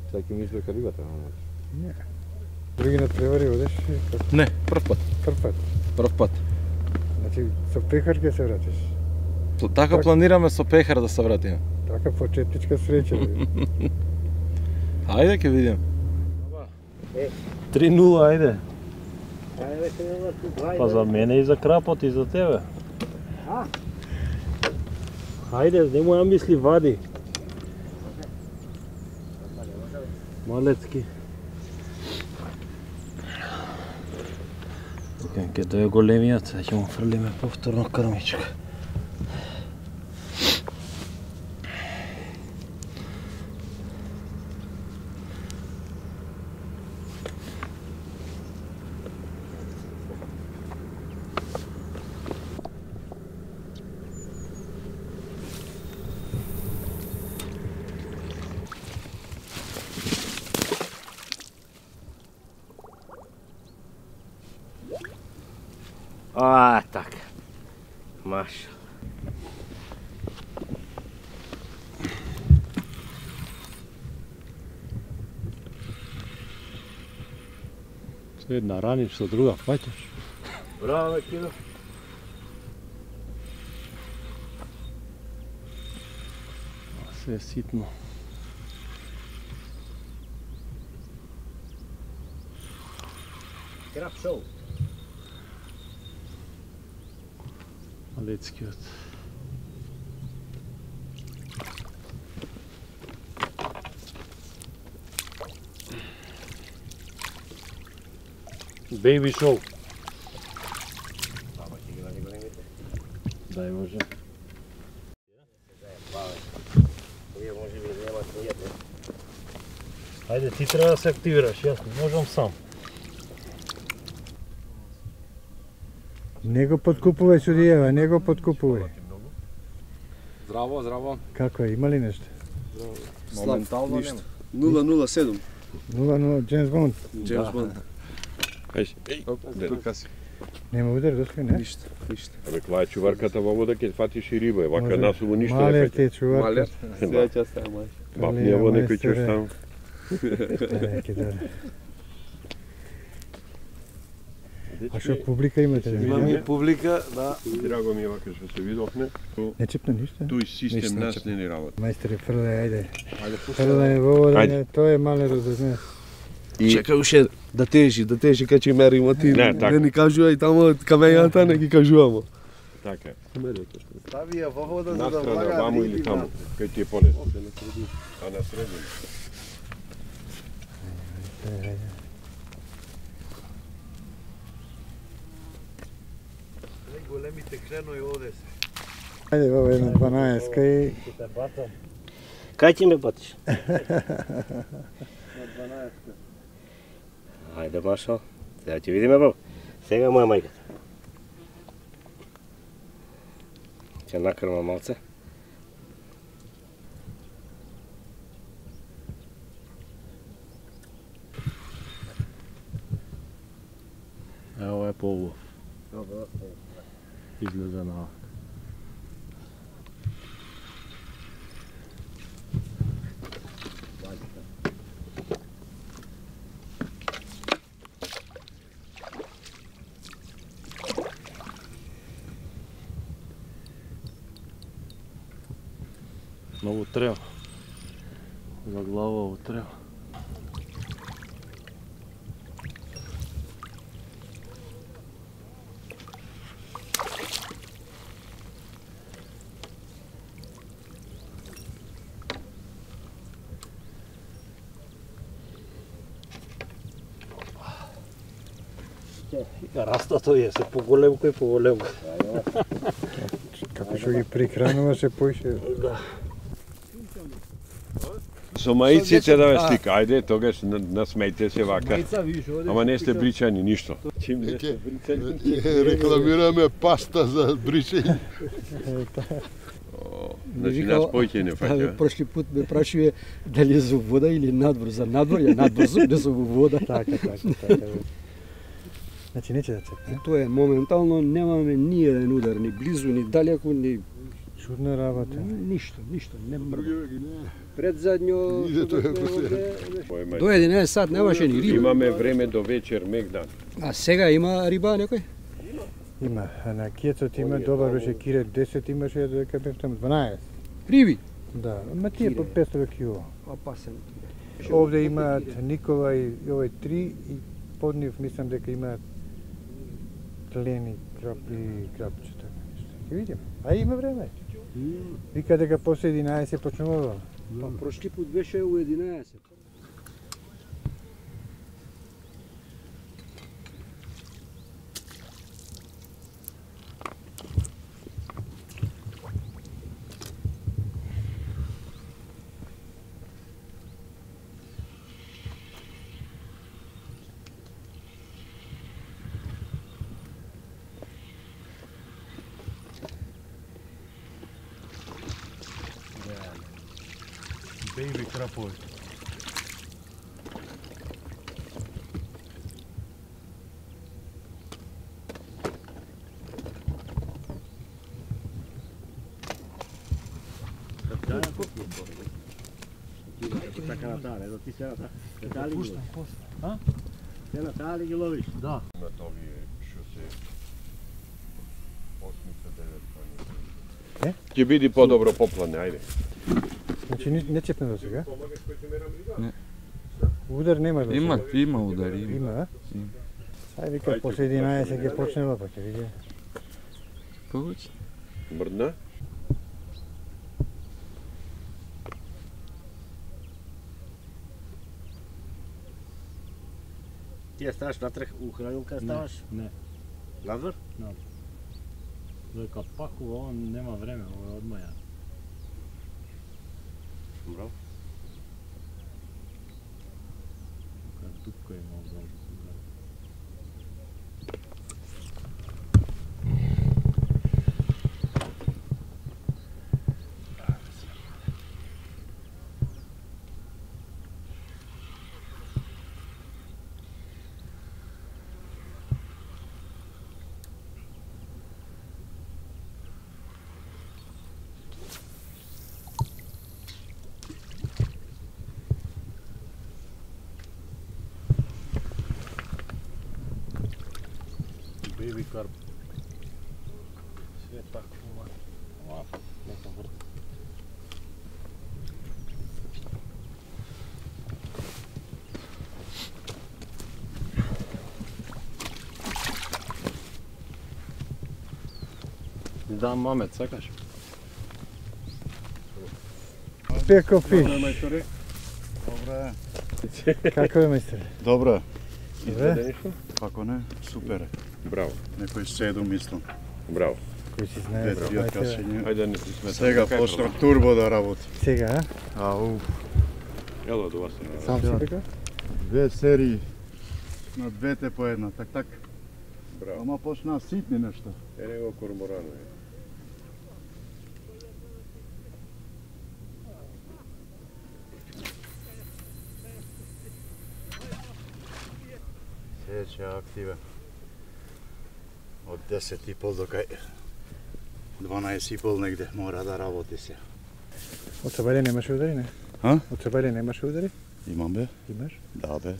Speaker 11: Сега ќе ми извлека рибата, ама.
Speaker 13: Не. Други надпревари одеш?
Speaker 8: Не, прв пат.
Speaker 13: Прв пат?
Speaker 8: Прв пат.
Speaker 13: Значи, со пехар ќе се вратиш?
Speaker 8: Така планираме со пехар да се вратиме.
Speaker 13: Така почетничка среќа.
Speaker 8: Ајде ќе видиме. три нула, ајде. Па за мене и за крапот и за тебе. Ајде, немој ја мисли, вади. Малецки. Ке дојде големиот, сега ќе му фрлиме повторно крмичка.
Speaker 2: А, така. Маша.
Speaker 8: Со една раниш, со друга фаќаш.
Speaker 2: Браво, Кино.
Speaker 8: Се е ситно.
Speaker 2: Крап шоу.
Speaker 8: Малецкиот. Бейби шоу. Дај може.
Speaker 2: Овие може би нема нијде.
Speaker 8: Ајде, ти треба да се активираш, јас не можам сам.
Speaker 13: Не го подкупувај судијева, не го подкупувај.
Speaker 14: Здраво, здраво.
Speaker 13: Како е, има ли нешто?
Speaker 14: Моментално нема. нула нула седум.
Speaker 13: нула нула, Джеймс Бонд.
Speaker 14: Джеймс Бонд.
Speaker 5: Ајде,
Speaker 14: тука си.
Speaker 13: Нема удар, доска не?
Speaker 14: Ништо, ништо.
Speaker 5: Абе, ква е чуварката во вода, ќе фатиш и риба, вака насуву ништо не
Speaker 13: Малер
Speaker 5: фаќа.
Speaker 13: ти е чуварка.
Speaker 14: Малер, сега ќе става мај.
Speaker 5: Бапнија во некој ќе таму.
Speaker 13: Неке да. А што публика имате?
Speaker 14: Имаме и публика, да.
Speaker 5: Драго ми е вака што се видовме.
Speaker 13: Не чепна ништо?
Speaker 5: Тој систем нас не ни работи.
Speaker 13: Мајсторе, фрлај, ајде.
Speaker 14: Ајде, пушта.
Speaker 13: Фрлај во вода, тоа е малерот за днес.
Speaker 14: И... Чекај уште да тежи, да тежи кај ќе меримо ти.
Speaker 5: Не, така.
Speaker 14: Не ни кажувај тамо камењата, не ги кажувамо.
Speaker 5: Така.
Speaker 11: Стави ја во вода за да
Speaker 5: Настрана,
Speaker 11: влага
Speaker 5: ваму или
Speaker 11: риби
Speaker 5: таму,
Speaker 11: внатре.
Speaker 5: кај ти е полесно. А на средина.
Speaker 15: Големите кленови овде се.
Speaker 13: Ајде, ова една дванаесетка и...
Speaker 2: Кај ти ме батиш?
Speaker 13: На
Speaker 2: дванаесетка. Ајде, Машо. Сега ќе видиме, баб. Сега моја мајката. Ќе накрма малце.
Speaker 8: Ево е по-убав. Изгледа на... Много треба. За глава треба.
Speaker 15: Растато е, се поголемко и поголемко.
Speaker 13: Како што ги прихранува се поише.
Speaker 15: Да.
Speaker 5: Со маиците да ве слика, ајде, тогаш насмејте се вака. Ама не сте бричани, ништо. Чим не сте бричани?
Speaker 4: Рекламираме паста за бричање.
Speaker 5: Значи нас појќе не фаќа.
Speaker 16: Прошли пут ме прашуве дали е за вода или надвор. За надвор, ја надвор зуб, не за вода.
Speaker 13: Така, така, така. Значи не ќе да цепне.
Speaker 16: Тоа е моментално немаме ни еден удар, ни близу, ни далеку, ни
Speaker 13: чудна работа.
Speaker 16: Ништо, ништо, не мрда. Пред задњо до единаесет сат немаше ни риба.
Speaker 5: Имаме време до вечер мегдан.
Speaker 16: А сега има риба некој?
Speaker 13: Има, а на кијецот има добар беше кире десет, имаше дека бев таму дванаесет.
Speaker 16: Риби?
Speaker 13: Да, ма тие по петстотин кило.
Speaker 16: Опасен.
Speaker 13: Овде имаат Никола и овој три и под нив мислам дека имаат клени крап и крапчета. Ќе видиме. А има време. Вика дека после единаесет почнува.
Speaker 16: Па прошли пут беше у единаесет.
Speaker 15: Бейби крапови.
Speaker 2: Така натале, да ти се натале ги ловиш. А? Се натале ги ловиш? Да.
Speaker 5: На овие што се осмица девет.
Speaker 13: Е?
Speaker 5: Ќе биде подобро поплане, ајде.
Speaker 13: Значи не, не цепне до сега? Не. Удар нема до сега?
Speaker 17: Има, има удар, има.
Speaker 13: Има, а? Сај вика, после единаесет ќе почнела, па ќе види.
Speaker 17: Повеќе.
Speaker 5: Мрдна?
Speaker 2: Ти ја ставаш натрах у хранилка, ставаш?
Speaker 8: Не.
Speaker 2: Надвор?
Speaker 8: Надвор. Дека пакува, он нема време, ова е одмаја.
Speaker 2: Браво.
Speaker 8: Тука дупка има одзад. Baby carp. Sve tako ovako, neka vrta.
Speaker 9: Да, мамет, сакаш?
Speaker 13: Пеко фиш.
Speaker 18: Добре.
Speaker 13: Како е, мајсторе?
Speaker 18: Добре.
Speaker 13: Добре?
Speaker 18: Како не? Супер е.
Speaker 5: Браво.
Speaker 18: Некој седум мислам.
Speaker 5: Браво.
Speaker 13: Кој си знае,
Speaker 3: Две
Speaker 13: браво.
Speaker 3: кашења.
Speaker 5: Ајде да не ти сметам.
Speaker 3: Сега почна турбо да работи.
Speaker 13: Сега, а?
Speaker 3: Ау.
Speaker 5: Ело до вас.
Speaker 13: Сам си така?
Speaker 3: Две серии на двете по една, так так.
Speaker 5: Браво.
Speaker 3: Ама почна ситни нешто.
Speaker 5: Е него корморано е.
Speaker 3: Сече активен. Од десет и пол до кај дванаесет и пол негде мора да работи се.
Speaker 13: Од Сабајле немаше удари, не?
Speaker 3: А?
Speaker 13: Од Сабајле немаше удари?
Speaker 3: Имам бе.
Speaker 13: Имаш?
Speaker 3: Да бе.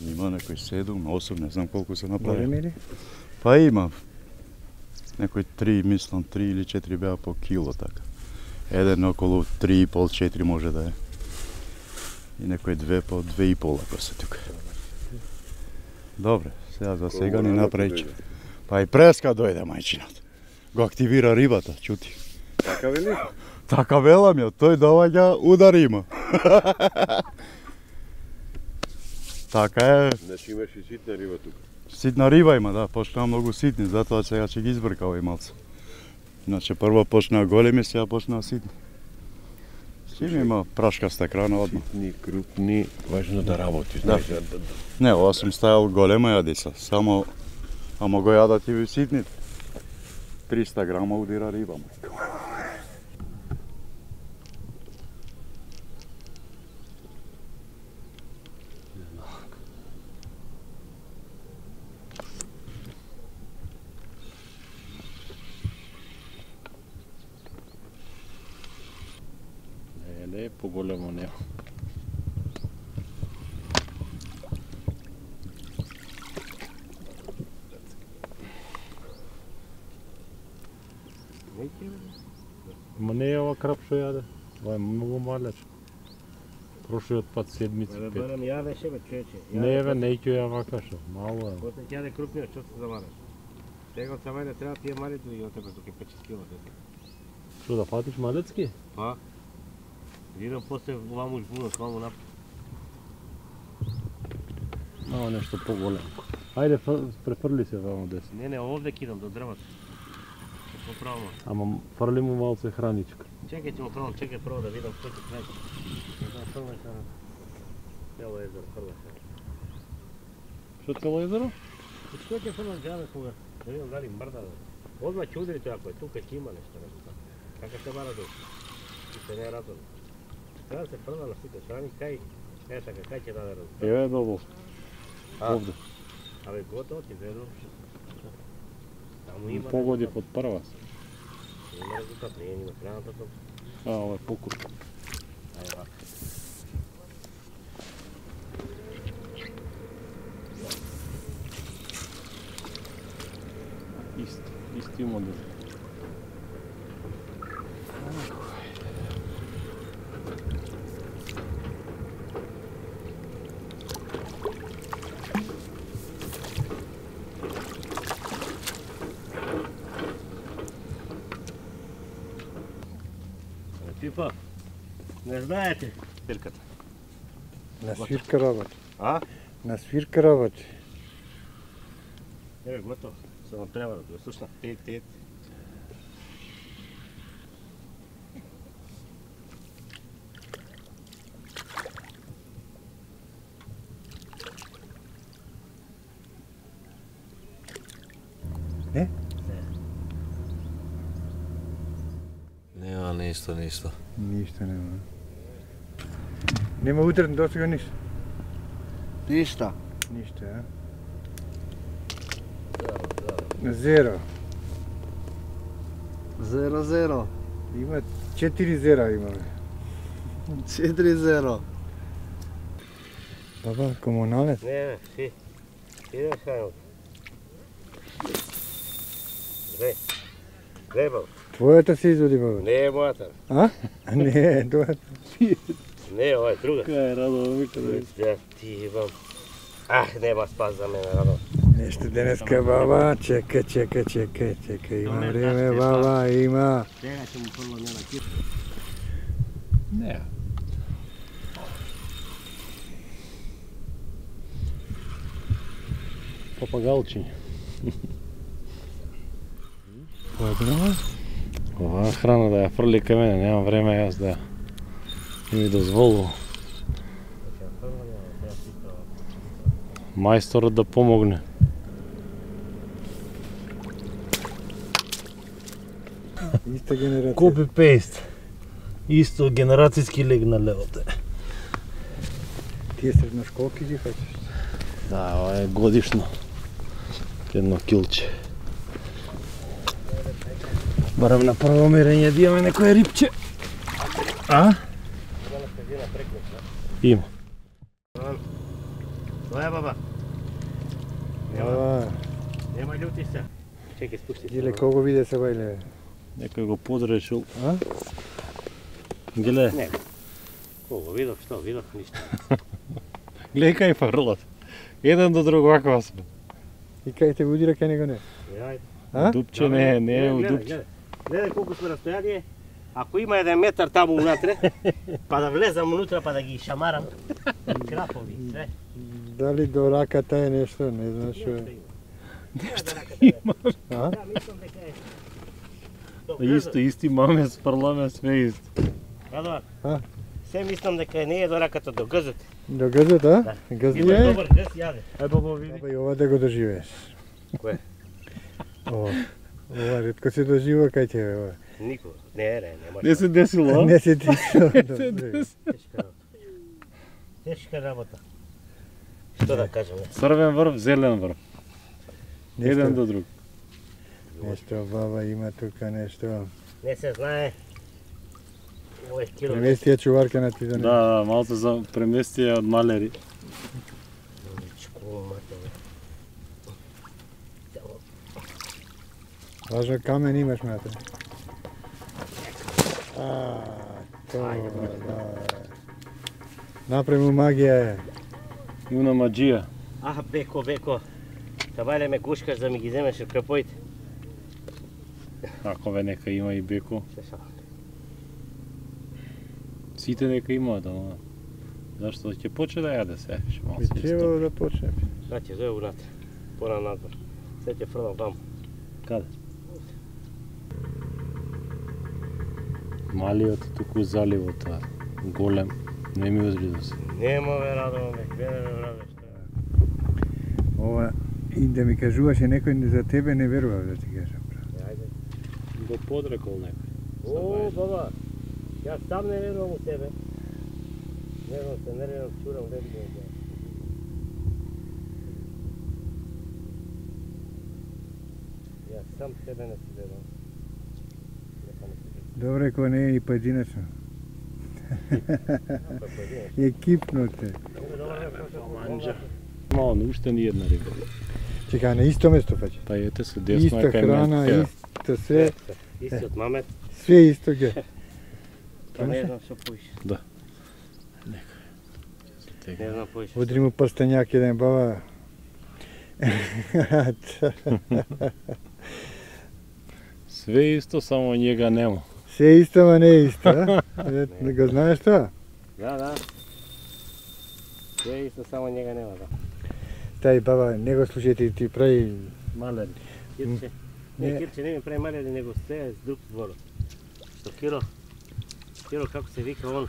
Speaker 3: Има некој седум, осум, не знам колку се направи.
Speaker 13: Големи ли?
Speaker 3: Па има. Некој три, мислам, три или четири беа по кило така. Еден околу три и пол, четири може да е. И некој две по две и пол ако се тука. Добре, сега за сега ни направи. Па и преска дојде мајчинот. Го активира рибата, чути.
Speaker 5: Така вели?
Speaker 3: Така велам ја, тој доаѓа, удар има. Така е.
Speaker 5: Значи имаш и ситна риба тука.
Speaker 3: Ситна риба има, да, почнаа многу ситни, затоа сега ќе ги избрка овој малце. Иначе прво почнаа големи, сега почнаа ситни. Сим има прашкаста крана одма.
Speaker 5: Ситни, крупни, важно да работи,
Speaker 3: Да.
Speaker 5: знаеш. Да.
Speaker 3: Не, ова сум ставил голема јадица, само ама го јадат и ситните. триста грама удира риба, мајко.
Speaker 8: Не, не е поголемо нема. Ма не е ова крап што јаде. Ова е многу малеч. Прошиот пат седмици
Speaker 2: Бе,
Speaker 8: пет.
Speaker 2: барам ја беше бе, човече.
Speaker 8: Не бе, не ќе ја вакаше. Мало е.
Speaker 2: После ќе јаде крупниот, што се замараш? Сега од Сабајле треба тие малите да ги отепаш тука пет шест кило.
Speaker 8: Што да фатиш малецки?
Speaker 2: Па. Видам после ваму жбунот, ваму напад.
Speaker 8: Мало нешто поголемо. Ајде, фр- префрли се вамо десно.
Speaker 2: Не, не, овде кидам до дрвото. Поправам.
Speaker 8: Ама фрли му малце храничка.
Speaker 2: Чекај, ќе му правам, чекај прво да видам што ќе прави. Не знам, фрлаш на... Цело езеро, фрлаш на...
Speaker 8: Што цело езеро?
Speaker 2: И што ќе фрлаш џабе кога? Да видам дали мрда да... Одма ќе удри тој ако е тука ќе има нешто. Како се бара до... И се не е разум. Треба да се фрла на сите страни, кај... Е, така, кај ќе даде разум.
Speaker 8: Еве долу.
Speaker 2: А?
Speaker 8: Овде.
Speaker 2: Абе, готово ти ведно. Таму има...
Speaker 8: Погоди под прва.
Speaker 2: Има резултат, не е ни на крајната топ.
Speaker 8: А, ова е покуп.
Speaker 2: Ајде, вака.
Speaker 8: Исти, исти модел.
Speaker 2: Пипа, не знаете пирката?
Speaker 13: На свирка работи.
Speaker 2: А?
Speaker 13: На свирка работи.
Speaker 2: Еве, готово. Само треба да го слушна. Тет, тет.
Speaker 13: Не?
Speaker 17: Нема ништо, ништо.
Speaker 13: Ништо нема. Нема утрен до сега ништо.
Speaker 17: Ништо.
Speaker 13: Ништо, а? Зеро.
Speaker 17: Зеро, зеро.
Speaker 13: Има четири зера имаме.
Speaker 17: Четири зеро.
Speaker 13: Баба, комуналец?
Speaker 2: Не, не, си. Идем хајот. Две. Две, баба.
Speaker 13: Твојата се изводи, баба.
Speaker 2: Не е мојата.
Speaker 13: А? Не, твојата.
Speaker 2: Не, ова е друга.
Speaker 8: Кај е Радо, вика да
Speaker 2: Да, ти бам. Ах, нема спас за мене, Радо.
Speaker 13: Нешто денеска, баба, чекај, чекај, чекај, чекај, има време, баба, има.
Speaker 2: Сега ќе му фрлам ја на кит.
Speaker 8: Не. Папагалчиња. Ова храна да ја фрли кај мене, немам време јас да ми дозволува. Мајсторот да помогне.
Speaker 13: Иста генерација.
Speaker 8: Копи пейст. Исто генерацијски легнале овде.
Speaker 13: Тие средно школки ги фаќаш?
Speaker 8: Да, ова е годишно. Едно килче. Барам на прво мерење да имаме некој рипче. А? Има.
Speaker 2: Тоа е, баба.
Speaker 13: Ова.
Speaker 2: Нема љути се. Чекај, спусти се.
Speaker 13: Иле кого виде се бајле?
Speaker 8: Некој го подречил. А? Гле.
Speaker 2: Не. Кого видов, што видов, ништо.
Speaker 8: Гледај кај фрлат. Еден до друг вака сме.
Speaker 13: И кај те удира кај него не?
Speaker 2: Јајде.
Speaker 13: А?
Speaker 8: Дупче не, не е у дупче.
Speaker 2: Гледај колку сме растојание. Ако има еден метар таму унатре, па да влезам унутра, па да ги шамарам. Крапови, све.
Speaker 13: Дали до раката е нешто, не знам што е.
Speaker 8: Нешто има.
Speaker 13: А?
Speaker 2: Да, мислам дека е.
Speaker 8: Исто, исти маме, спрламе, све исто.
Speaker 2: Радован,
Speaker 13: А?
Speaker 2: се мислам дека не е до раката, до гъзот.
Speaker 13: До гъзот, а?
Speaker 2: Да.
Speaker 13: Гъз
Speaker 2: Има
Speaker 13: е?
Speaker 2: добар гъз, јаде.
Speaker 8: Ај баба види.
Speaker 13: Абе, и ова да го доживееш.
Speaker 2: Кој?
Speaker 13: Ова. Ова ретко се дожива кај тебе, ова.
Speaker 2: Никога. Не, не, нема.
Speaker 8: Не се десило, а?
Speaker 13: Не се десило.
Speaker 8: Не се десило.
Speaker 2: Тешка работа. Тешка работа. Што да кажем?
Speaker 8: Црвен врв, зелен врв.
Speaker 13: Нешто-
Speaker 8: Еден до друг.
Speaker 13: Нешто баба има тука, нешто.
Speaker 2: Не се знае. Ова е кило.
Speaker 13: Преместија чуварка на ти да не.
Speaker 8: Да, да, малце за преместија од малери.
Speaker 13: Важно камен имаш, мате. А, тоа, да. Направи му магија е.
Speaker 8: Има маџија.
Speaker 2: Аха, беко, беко. Табале ме гушкаш да ми ги земеш од крапоите.
Speaker 8: Ако ве нека има и беко.
Speaker 2: Се са.
Speaker 8: Сите нека имаат, ама... Зашто ќе почне да јаде се, ше малце.
Speaker 13: Би требало да почне.
Speaker 2: Значи, зој унатре. Пора надвор. Се ќе фрлам таму.
Speaker 8: Каде? Малиот туку заливот, а голем, не ми озри да се.
Speaker 2: Нема ве радовам, бе, гледа ме враде што е.
Speaker 13: Ова, и да ми кажуваше некој за тебе не верував да ти кажам.
Speaker 2: Ајде.
Speaker 8: Го подрекол некој.
Speaker 2: О, баба, јас сам не верувам у тебе. Не знам, се нервирам, чурам, лебидам. Јас сам тебе не си верувам.
Speaker 13: Добре, кога не е и поединечно. Екипно те.
Speaker 8: Манџа. Мало, не уште ни една риба.
Speaker 13: Чека, на исто место паќе.
Speaker 8: Па ете се десно
Speaker 13: Иста
Speaker 8: е кај
Speaker 13: храна,
Speaker 8: мен.
Speaker 13: исто се.
Speaker 2: Истиот мамет.
Speaker 13: Све исто ге.
Speaker 2: Па не знам што поиш.
Speaker 8: Да.
Speaker 2: Не знам поиш.
Speaker 13: Удри му прстењак еден баба.
Speaker 8: Све исто, само njega нема.
Speaker 13: Се исто, ма не е исто, а? Не го знаеш тоа?
Speaker 2: Да, да. Све исто, само njega нема, да.
Speaker 13: Тај баба, не го слушајте, ти прави...
Speaker 8: Малери.
Speaker 2: Кирче. Не,
Speaker 13: Не.
Speaker 2: Кирче не ми прави малери, него се е друг зборот. Со Киро. Киро, како се вика он?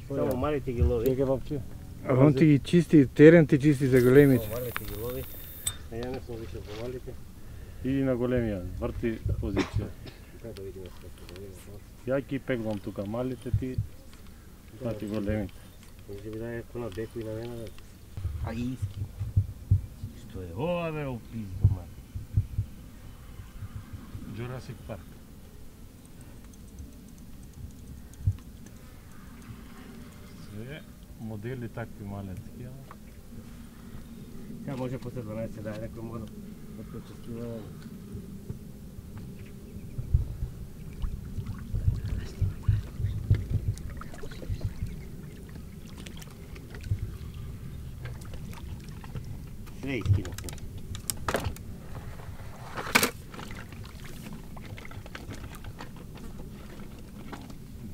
Speaker 2: Само малите ги лови.
Speaker 8: Чекај бабче.
Speaker 13: А он ти ги чисти, терен ти чисти за големите.
Speaker 2: Само малите ги лови. А ја не сум више по малите.
Speaker 8: Иди на големија, врти позиција.
Speaker 2: Кај да видиме што да видиме.
Speaker 8: Ја ги пеглам тука малите, ти врти големите.
Speaker 2: Може би да е кона беко и на мене, бе. А иски. Што е ова, бе, опизно, ман.
Speaker 8: Jurassic Park. Све модели такви малецки, ама.
Speaker 2: Сега може после дванаесет да е некој модел да почувствува. Све искинав.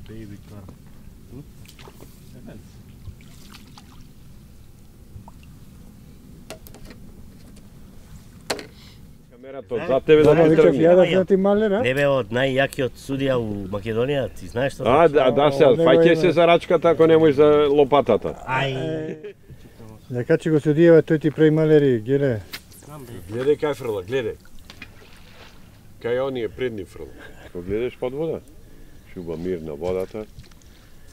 Speaker 8: Baby car.
Speaker 5: За тебе да
Speaker 13: Баба
Speaker 5: ти
Speaker 13: викав,
Speaker 5: тргне.
Speaker 13: ја да знати малер, а?
Speaker 2: Не бе од најјакиот судија у Македонија, ти знаеш што?
Speaker 5: А, да, да се, фаќај се за рачката ако не можеш за лопатата.
Speaker 2: Ај.
Speaker 13: Дека че го судиева, тој ти прави малери, гледај.
Speaker 5: Гледај кај фрла, гледај. Кај оние предни фрла. Ако гледаш под вода, шуба мирна водата.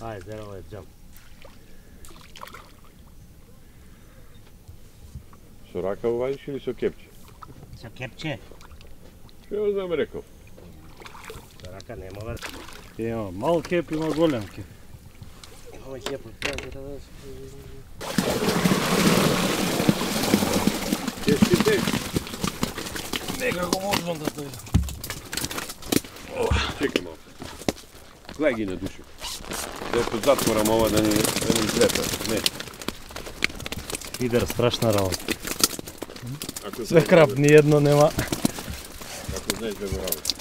Speaker 2: Ај, зеро е джам.
Speaker 5: Со рака увадиш или со кепче?
Speaker 2: Со кепче.
Speaker 5: Што знам рекол?
Speaker 2: Со рака не мога.
Speaker 8: Има мал кеп, има голем кеп.
Speaker 2: Имаме кеп од тоа да
Speaker 5: Кешките?
Speaker 8: Некако можам да дојдам.
Speaker 5: Чекай малко. Гледај ги на душу. Дето затворам ова да ни, да ни излета. Не.
Speaker 8: Фидер страшна работа.
Speaker 5: Ако
Speaker 8: Све крап, ни едно нема.
Speaker 5: Ако знаеш да го работиш,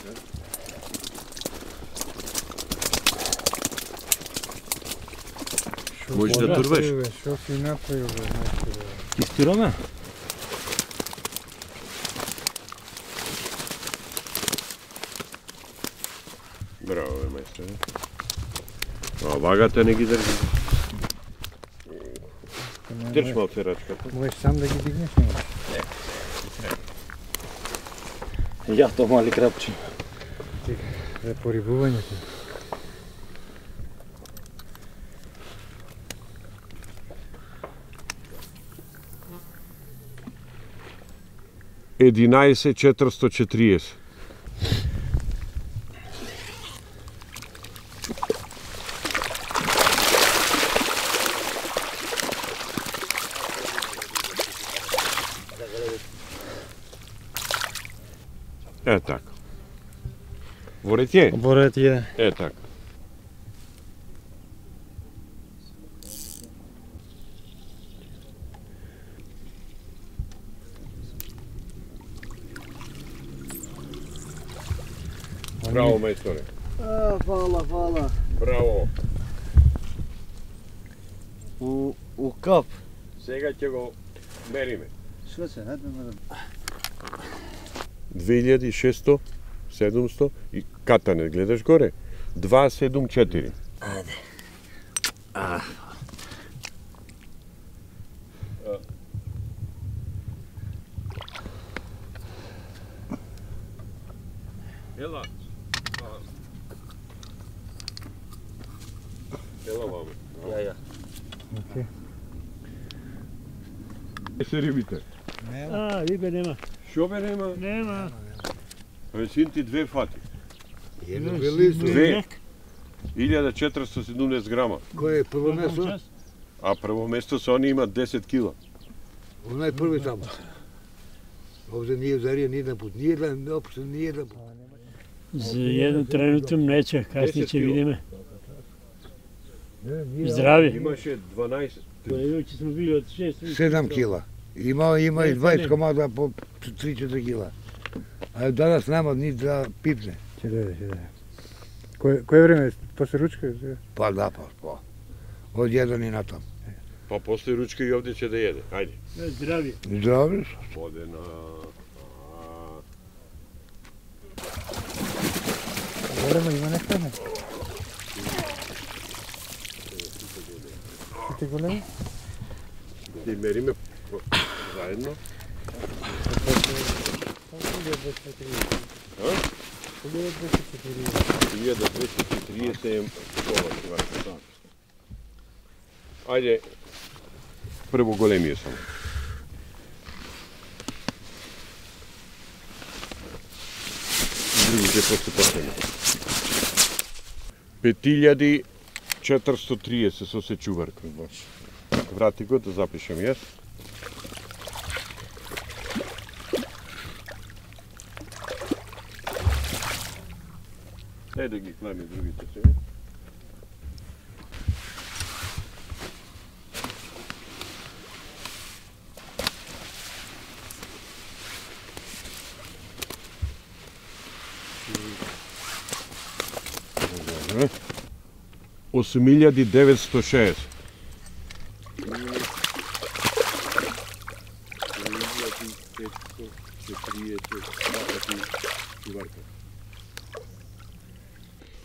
Speaker 5: не? Можеш да турваш?
Speaker 13: Шо си направил, бе, мајсторе?
Speaker 8: Ти стираме?
Speaker 5: Браво, бе, мајсторе. А вагата не ги држи. Држ малце рачката.
Speaker 13: Можеш сам да ги дигнеш, нема?
Speaker 8: Ја то мали крапче.
Speaker 13: За порибувањето.
Speaker 5: единаесет четиристо четириесет. Е така. Ворет е?
Speaker 8: Ворет е.
Speaker 5: Е така. Браво, мајсторе.
Speaker 17: А, фала, фала.
Speaker 5: Браво.
Speaker 17: У, у кап.
Speaker 5: Сега ќе го мериме.
Speaker 17: Што се, хајде ме да...
Speaker 5: две илјади и шесто, седумсто и катане, гледаш горе? два седум четири.
Speaker 2: Ајде. А.
Speaker 5: Ела. Ела, мамо.
Speaker 2: Ја, ја.
Speaker 13: Океј.
Speaker 5: Е се рибите?
Speaker 15: А, рибе нема.
Speaker 5: Шо бе нема?
Speaker 15: Нема.
Speaker 5: Абе син ти две фати.
Speaker 17: Едно велико.
Speaker 5: Две. илјада четиристо седумдесет грама.
Speaker 17: Кој е прво место?
Speaker 5: А прво место со они имат десет кила.
Speaker 17: Онај први таму. Овде nije зарија ни еден пут, ни еден, општо ни еден пут.
Speaker 15: За еден тренутен млече, касни ќе видиме. Здрави.
Speaker 5: Имаше дванаесет.
Speaker 15: Луѓе сме били од шест.
Speaker 17: седам кила. Има има и дваесет комада по три-четири кила. А данас нема ни да пипне.
Speaker 13: Ќе дојде, ќе дојде. Кој кој време после ручка?
Speaker 17: Па да, па, па. Од еден и натам.
Speaker 5: Па после ручка и овде ќе да једе. Ајде.
Speaker 15: Здрави.
Speaker 17: Здрави.
Speaker 5: Одена.
Speaker 13: Голема има нешто не? Сите големи?
Speaker 5: И мериме заедно. илјада двесте и триесет е това. Ајде, прво големије само. Другите после последно. пет илјади четиристо триесет со сечуварка. Врати го да запишем јас. Дај да ги клами другите себе. осум илјади деветсто шеесет.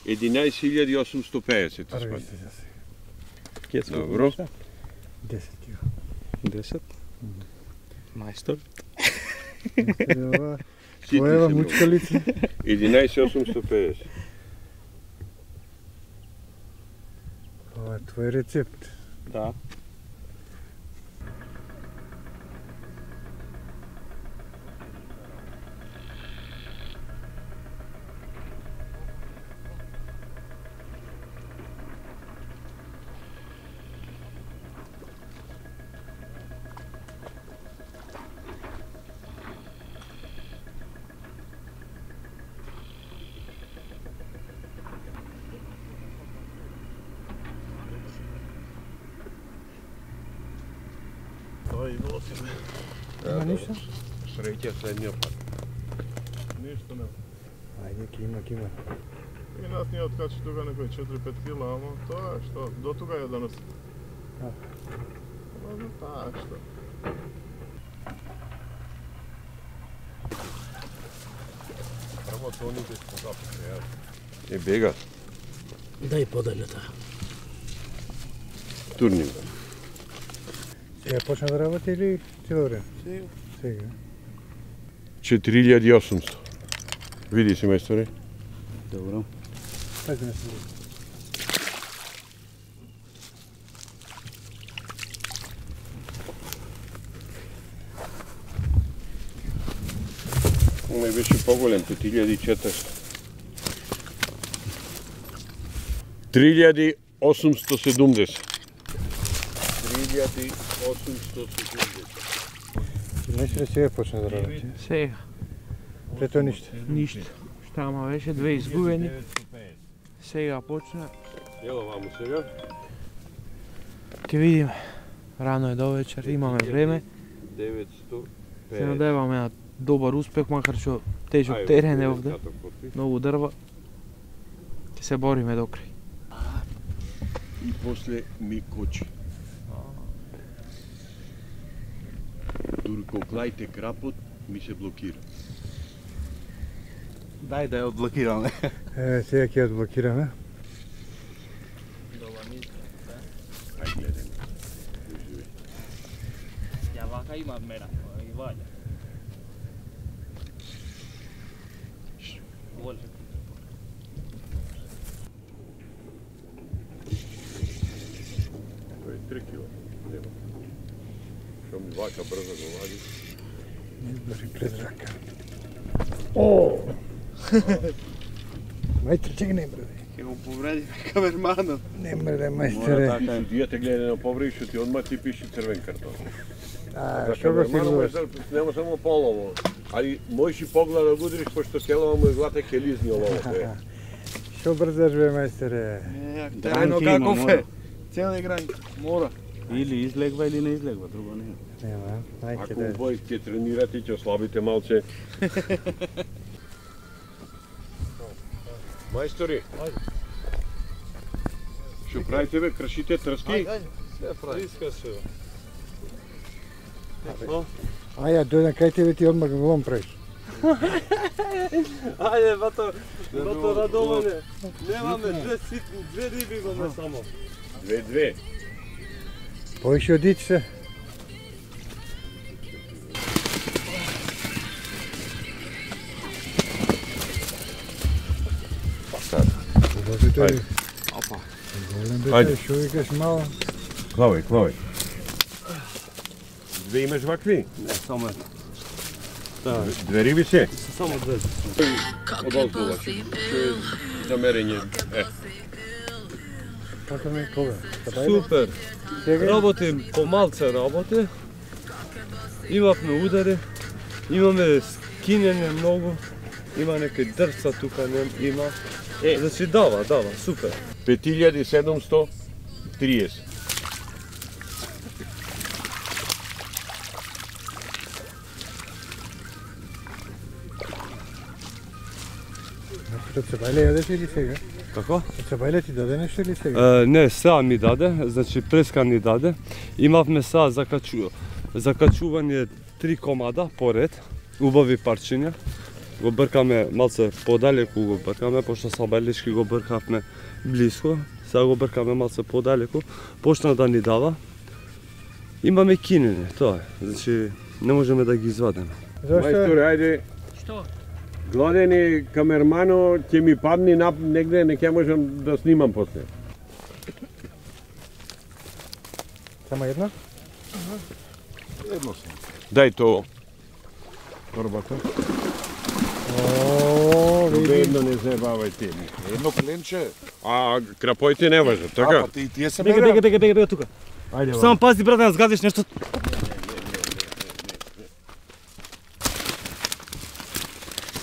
Speaker 5: единаесет илјади осумсто педесет. Добро.
Speaker 13: десет кила.
Speaker 6: десет. Мајстор.
Speaker 13: Твоева мучкалица.
Speaker 5: единаесет осумсто педесет.
Speaker 13: Ова е твој рецепт.
Speaker 6: Да.
Speaker 13: Има ништо?
Speaker 5: Среќа следниот пат.
Speaker 19: Ништо нема.
Speaker 13: Ајде, ке има, ке има.
Speaker 19: И нас ни откачи тука некои четири-пет кила, ама тоа е што, до тука е данас. Ама тоа е што.
Speaker 5: Прво тоните што запише, ја. Е, бега.
Speaker 2: Дај подалјата.
Speaker 5: Турним.
Speaker 13: Сега почна да работи или цело време?
Speaker 19: Сега.
Speaker 13: Сега.
Speaker 5: четири илјади и осумсто. Види си, мајсторе.
Speaker 6: Добро.
Speaker 13: Ајде не се.
Speaker 5: Оме беше поголем, пет илјади и четиристо. три илјади осумсто седумдесет. три илјади осумсто седумдесет.
Speaker 13: Мислиш ли сега почна да работи?
Speaker 20: Сега.
Speaker 13: Пред тоа ништо?
Speaker 20: Ништо. Што ама беше две изгубени. Сега почна.
Speaker 5: Ело ваму сега.
Speaker 20: Ќе видиме. Рано е до вечер, имаме време.
Speaker 5: деветсто
Speaker 20: Се надеваме на добар успех, макар што тежок терен е овде. Многу дрва. Ќе се бориме до крај.
Speaker 5: И после ми кочи. Дури кога глајте крапот, ми се блокира.
Speaker 3: Дај да ја одблокираме.
Speaker 13: Е, сега ќе ја одблокираме.
Speaker 5: Ај гледај.
Speaker 6: Ја вака има мера, и ваѓа. Воле.
Speaker 5: Тоа е три кила. Нема. Што ми вака брзо го вади.
Speaker 13: Не избори пред рака. О! Мајстер, чекай не браде.
Speaker 3: Ќе го повредиме камерманот.
Speaker 13: Не браде, мајстере.
Speaker 5: Судијата гледа на повреди, што ти одма ти пише црвен картон.
Speaker 13: А, што го сигуруваш?
Speaker 5: Нема само полово. Али можеш и поглед да го удриш, пошто целава му е глата ке лизни оловото.
Speaker 13: Што брзаш бе, мајстере?
Speaker 3: Терено каков е? Цели гранки.
Speaker 6: Мора. Или излегва или не излегва, друго не.
Speaker 13: Нема, ајде.
Speaker 5: Ако обој ќе тренирате, ќе ослабите малце. Мајстори, што правите бе, кршите трски?
Speaker 19: Ајде, ајде. Се прави. Иска се.
Speaker 13: А ја дојдам кај тебе ти одмah го правиш.
Speaker 7: Ајде, бато, бато Радоване. Немаме две ситни, две риби имаме само.
Speaker 5: Две-две.
Speaker 13: Поише одици се.
Speaker 5: Ајде.
Speaker 13: Опа. Ајде. Што викаш мало?
Speaker 5: Клавај, клавај. Две имаш вакви?
Speaker 6: Не, само една.
Speaker 5: Две риби се?
Speaker 6: Само две.
Speaker 5: Одолзуваш. Замерење. Е.
Speaker 13: Како ме кога?
Speaker 7: Супер. Работим, помалце работи. Имавме удари. Имаме скинење многу. Има некои дрвца тука, не има. Е, значи дава, дава, супер.
Speaker 5: пет илјади седумсто триесет.
Speaker 13: Од Цебајле јадеш или сега?
Speaker 6: Како?
Speaker 13: Од Цебајле ти даде нешто или сега?
Speaker 7: Е, не, сега ми даде, значи преска ни даде. Имавме сега закачу... закачување три комада поред, убави парчиња.
Speaker 9: го бркаме малце подалеку, го бркаме, пошто сабелички го бркавме близко, сега го бркаме малце подалеку, почна да ни дава. Имаме кинене, тоа е, значи не можеме да ги извадиме.
Speaker 5: Мајсторе, ајде.
Speaker 20: Што?
Speaker 5: Гладени камермано, ќе ми падни нап негде, не ќе можам да снимам после.
Speaker 13: Само една?
Speaker 5: Едно само. Дај тоа.
Speaker 4: Првата.
Speaker 13: О, види.
Speaker 5: Едно не заебавајте.
Speaker 4: Едно кленче.
Speaker 5: А крапоите не важат, така?
Speaker 4: А, па ти тие се
Speaker 10: Бега, бега, бега, бега, бега тука.
Speaker 5: Ајде.
Speaker 10: Само пази, брат, да не згадиш нешто.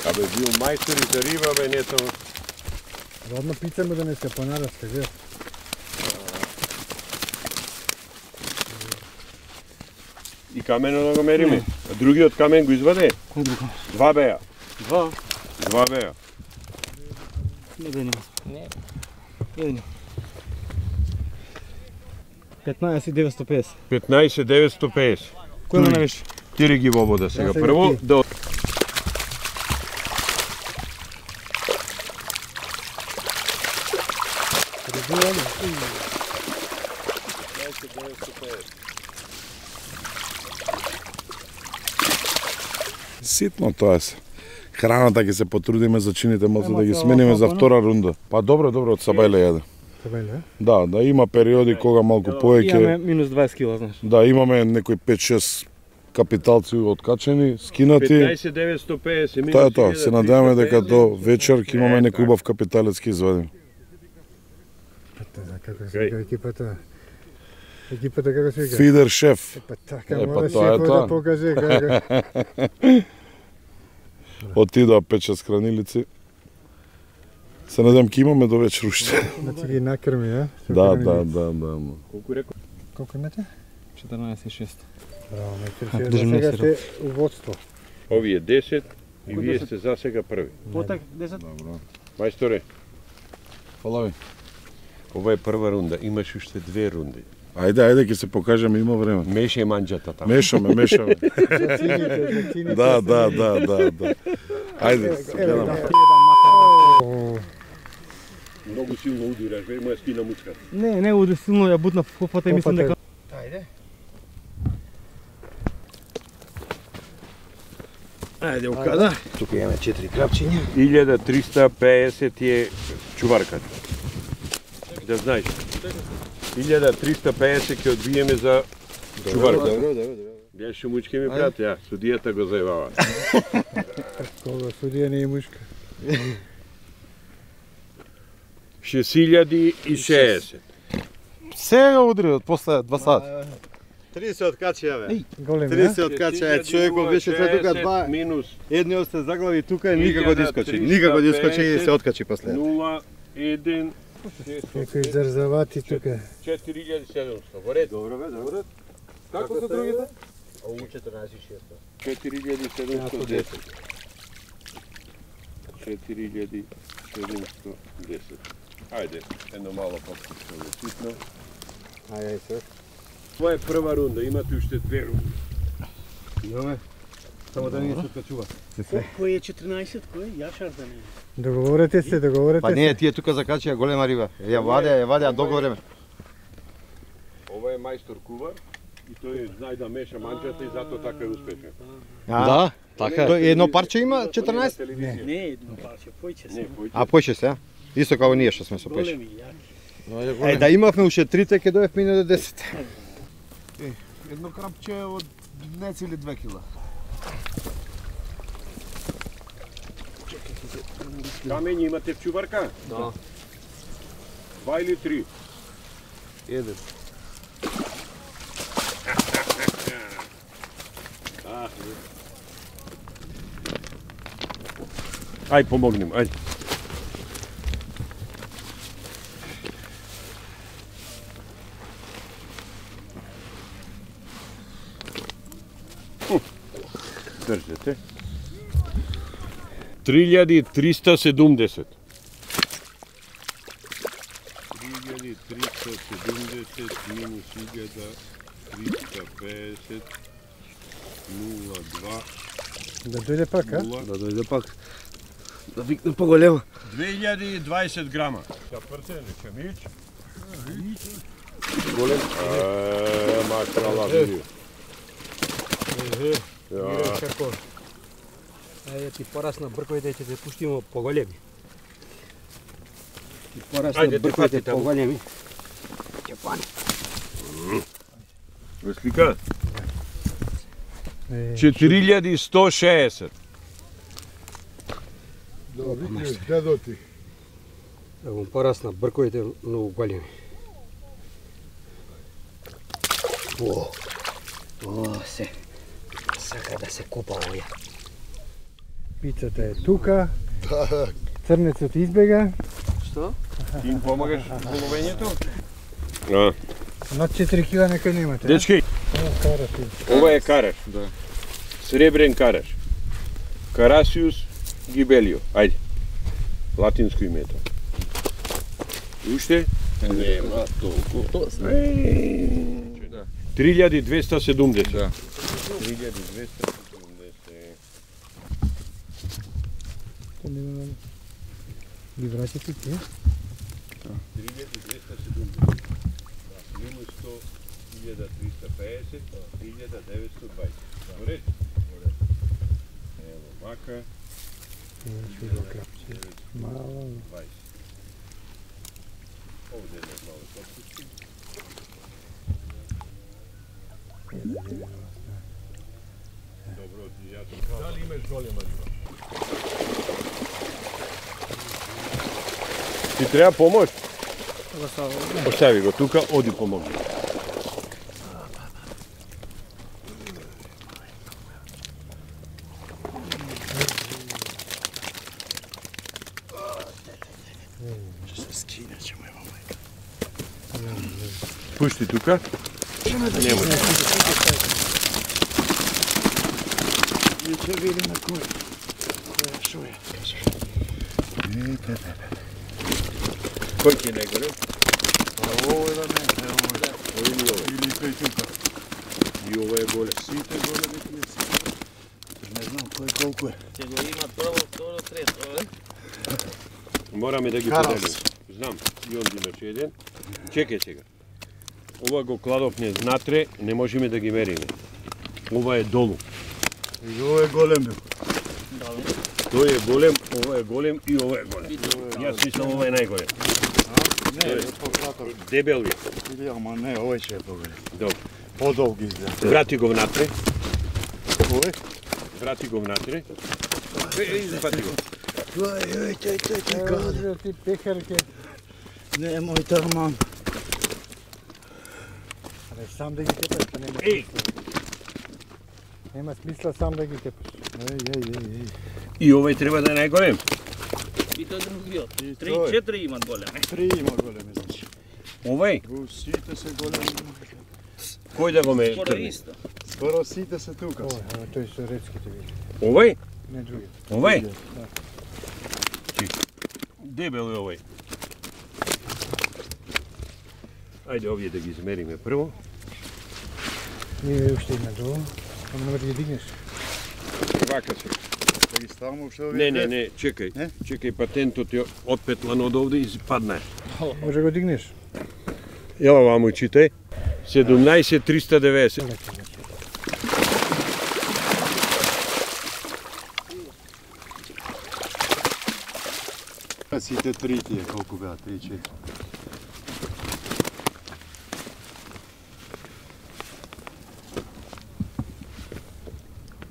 Speaker 5: Абе, бил мајстор и за риба, бе, не само...
Speaker 13: Родно пицаме да не се понараска, гледа.
Speaker 5: И камено да го мериме. А другиот камен го изваде?
Speaker 10: Кој друг камен?
Speaker 5: Два беа.
Speaker 10: Два?
Speaker 5: Два беа.
Speaker 10: Еден има. Не. Еден има. петнаесет деветстотини и педесет.
Speaker 5: петнаесет деветстотини и педесет.
Speaker 10: Кој ме навиш?
Speaker 5: Тири ги во вода сега.
Speaker 10: Да, сега
Speaker 5: Прво,
Speaker 10: ти.
Speaker 5: до...
Speaker 4: Ситно тоа се. Храната ќе се потрудиме за чините малце да ги смениме за втора рунда. Па добро, добро, од сабајле јаде.
Speaker 13: Сабајле?
Speaker 4: Да, да има периоди кога малку поеќе.
Speaker 10: Имаме минус дваесет кила, знаеш.
Speaker 4: Да, имаме некои пет-шест капиталци откачени, скинати.
Speaker 5: петнаесет деветстотини и педесет минус
Speaker 4: Тоа е тоа, се надеваме дека до вечер ќе имаме некој убав капиталец ќе извадиме.
Speaker 13: Како се вика екипата? Екипата како се вика?
Speaker 4: Фидер шеф.
Speaker 13: Епа така,
Speaker 4: Епа
Speaker 13: мора
Speaker 4: тоа е
Speaker 13: шефот
Speaker 4: тоа.
Speaker 13: да покаже како.
Speaker 4: Отидоа пет-шест хранилици. Се надевам ќе имаме до вечер уште.
Speaker 13: Значи ги накрми, а?
Speaker 4: Да, да, да, да.
Speaker 5: Колку реко?
Speaker 13: Колку имате?
Speaker 10: четрнаесет и шест.
Speaker 13: Браво, мејстер, сега сте у водство.
Speaker 5: Овие десет и вие сте за сега први.
Speaker 10: Потак десет.
Speaker 4: Добро.
Speaker 5: Мајсторе,
Speaker 4: Фала ви.
Speaker 5: ова е прва рунда, имаш уште две рунди.
Speaker 4: Ајде, ајде ќе се покажеме, има време.
Speaker 5: Мешај манџата таму.
Speaker 4: Мешаме, мешаме.
Speaker 13: За цините, за цините.
Speaker 4: Да, да, да, да, да. Ајде, се гледаме.
Speaker 5: Многу силно удираш, бе, моја спина мучка.
Speaker 10: Не, не уди силно, ја бутна в попата и мислам дека...
Speaker 13: Ајде.
Speaker 14: Ајде, укада. Тука имаме четири крапчиња.
Speaker 5: илјада триста педесет е чуварката. Да знаеш. илјада триста педесет ќе одбиеме за чуварката.
Speaker 14: Добро, добро, добро.
Speaker 5: Беше мучки ми брат, ја, судијата го заебава.
Speaker 13: Кога судија не е мушка.
Speaker 5: шест илјади и шеесет.
Speaker 9: Сега удри од после два сата.
Speaker 14: тридесет откачија, бе.
Speaker 13: Голем,
Speaker 14: тридесет откачија, човекот беше се тука два.
Speaker 5: Минус.
Speaker 14: Едниот се заглави тука и никако да искочи. Никако да искочи и се откачи после.
Speaker 5: нула, еден,
Speaker 13: Некои зарзавати тука.
Speaker 5: четири илјади и седумстотини. Во ред.
Speaker 14: Добро, бе, добро.
Speaker 5: Како се другите?
Speaker 14: Ову четрнаесет и шест.
Speaker 5: четири илјади и седумстотини и десет. четири илјади и седумстотини и десет. Ајде, едно мало по-ситно. Ситно.
Speaker 14: Ајде, ајде се.
Speaker 5: Ова е прва рунда, имате уште две рунди.
Speaker 14: Имаме. Само да не се откачува.
Speaker 15: Кој е четрнаесет, кој? Јашар да не.
Speaker 13: Договорете се, договорете
Speaker 11: Па
Speaker 13: се.
Speaker 11: не, тие тука закачија голема риба. Ја вадеа, ја вадеа долго време.
Speaker 5: Ова е мајстор кувар и тој знае да меша манџата и затоа така е успешен.
Speaker 11: Да, така. Тој едно парче има четрнаесет?
Speaker 15: Не, не едно парче, појче се.
Speaker 11: А појче се, а? Исто како ние што сме со појче.
Speaker 15: Големи, јаки.
Speaker 11: Е, да имавме уште трите, ке дојавме и до десет.
Speaker 14: Едно крапче од нецели две кила.
Speaker 5: Камења имате в чуварка?
Speaker 14: Да.
Speaker 5: Два или три?
Speaker 14: Еден.
Speaker 5: Ај, помогнем, ајде. Држете. три илјади триста седумдесет. три илјади триста седумдесет минус илјада триста педесет нула два
Speaker 13: Да дојде пак, а?
Speaker 2: Да дојде пак. Да викне поголема.
Speaker 5: две илјади и дваесет грама. Са прцени чемич.
Speaker 2: Голем.
Speaker 5: Е, машала види.
Speaker 16: Видиш како. Ајде ти порасна брковите ќе те пуштимо поголеми. Ти порасна брковите поголеми. Ќе пане.
Speaker 5: Слика? четири илјади и сто шеесет.
Speaker 17: Добри, дедоти.
Speaker 16: Ево порасна брковите многу големи. О, о, се. Сака да се купа овоја.
Speaker 13: Пицата е тука. Црнецот избега.
Speaker 16: Што?
Speaker 5: Ти им помагаш во ловењето? А.
Speaker 13: Над четири кила некој немате.
Speaker 5: Дечки, ова е караш.
Speaker 3: Да.
Speaker 5: Сребрен караш. Карасиус гибелио. Ајде. Латинско името. Уште?
Speaker 2: Нема толку.
Speaker 5: три илјади двеста седумдесет.
Speaker 3: Да.
Speaker 5: три илјади двеста седумдесет.
Speaker 13: Ги враќате ти, е?
Speaker 5: три илјади двеста седумдесет. Минус сто илјада триста пеесет, илјада деветсто дваесет. Поред? Ево вака.
Speaker 13: Мало.
Speaker 5: Овде е мало подписки. Добро, ти ја ти дали имаш голема риба? Ти треба помош? Остави го тука, оди помогни. Пушти тука. Немој.
Speaker 17: И ќе видиме кој. Шо е?
Speaker 5: Кој ти е најголем?
Speaker 17: Ово е да не, ово е.
Speaker 5: Ови или ово?
Speaker 17: Или тој тука.
Speaker 5: И ова е голем.
Speaker 17: Сите големи тие сите. Не знам кој колку е.
Speaker 2: Ќе го има прво, второ, трето, е?
Speaker 5: Мораме да ги
Speaker 17: Карас.
Speaker 5: поделим. Знам, и он имаше еден. Чекај сега. Ова го кладовме внатре, не можеме да ги мериме. Ова е долу.
Speaker 17: И ова е голем бил.
Speaker 5: Тој е голем, ова е голем и ова е голем. Јас мислам ова е најголем.
Speaker 17: Не, е пократор.
Speaker 5: Дебел е.
Speaker 17: Или ама не, овој ќе е поголем.
Speaker 5: Добро.
Speaker 17: Подолг изгледа.
Speaker 5: Врати го внатре.
Speaker 17: Овој?
Speaker 5: Врати го внатре. Е, запати го.
Speaker 17: Ај, ај, тај, тај, тај, каде?
Speaker 13: Ти пехарке.
Speaker 17: Не, мој тарман.
Speaker 13: Абе, сам да ги тепаш, па нема
Speaker 5: Еј!
Speaker 13: Нема смисла сам да ги тепаш.
Speaker 17: Еј, еј, еј, еј.
Speaker 5: И овој треба да е најголем.
Speaker 2: И тој другиот.
Speaker 17: И
Speaker 2: Три,
Speaker 17: тој.
Speaker 2: четири имат големи.
Speaker 17: Три има големи, значи.
Speaker 5: Овој?
Speaker 17: Сите се големи.
Speaker 5: Кој да го ме
Speaker 2: Скоро
Speaker 5: тргне?
Speaker 2: исто.
Speaker 17: Скоро сите се тука.
Speaker 13: Ова, ама тој со рецките види.
Speaker 5: Овој?
Speaker 13: Не други.
Speaker 5: Овој?
Speaker 13: Да.
Speaker 5: Дебел е овој. Ајде овие да ги измериме прво.
Speaker 13: Ние уште има долу. Ама нема да ги дигнеш.
Speaker 5: Вака се.
Speaker 17: Да ги ставаме уште овие.
Speaker 5: Не, не, не, чекај. Чекај, патентот е отпетлан од овде и падна.
Speaker 13: Може го дигнеш.
Speaker 5: Ела ваму читај. седумнаесет триста деветдесет.
Speaker 17: Сите три тие, колку беа, три, четири.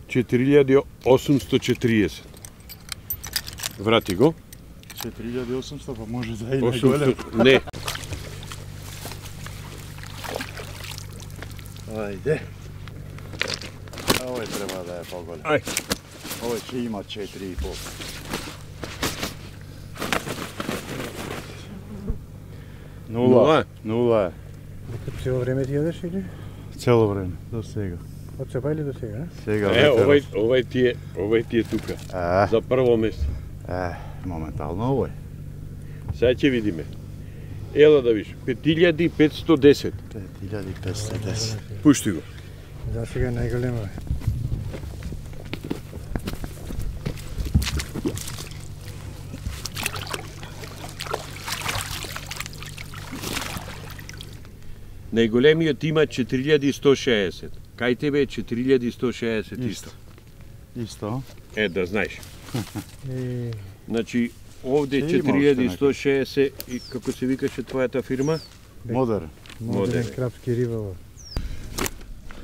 Speaker 5: четири илјади осумсто четириесет. Врати го.
Speaker 17: четири илјади и осумсто, па може да е и
Speaker 5: осумсто.
Speaker 17: најголем.
Speaker 5: Не.
Speaker 17: Ајде. Овој треба да е поголем.
Speaker 5: Ај.
Speaker 17: Овој ќе има четири и пол. Нула. Нула е.
Speaker 13: Цело време ти јадеш или?
Speaker 17: Цело време, до сега.
Speaker 13: Од сепа или до сега?
Speaker 17: Сега
Speaker 5: Е, овој, овој ти е, овој ти е тука.
Speaker 17: А.
Speaker 5: За прво место.
Speaker 17: Е, моментално овој.
Speaker 5: Сега ќе видиме. Ела да виш, пет илјади петсто десет.
Speaker 17: пет илјади петсто десет.
Speaker 5: Пушти го.
Speaker 13: За сега најголемо е.
Speaker 5: Најголемиот има четири илјади и сто шеесет. Кај тебе е четири илјади и сто шеесет исто.
Speaker 3: Исто.
Speaker 5: Е, да знаеш.
Speaker 13: И...
Speaker 5: Значи, овде е четири илјади и сто шеесет и како се викаше твојата фирма?
Speaker 3: Модерн.
Speaker 13: Модерн крапски риболов.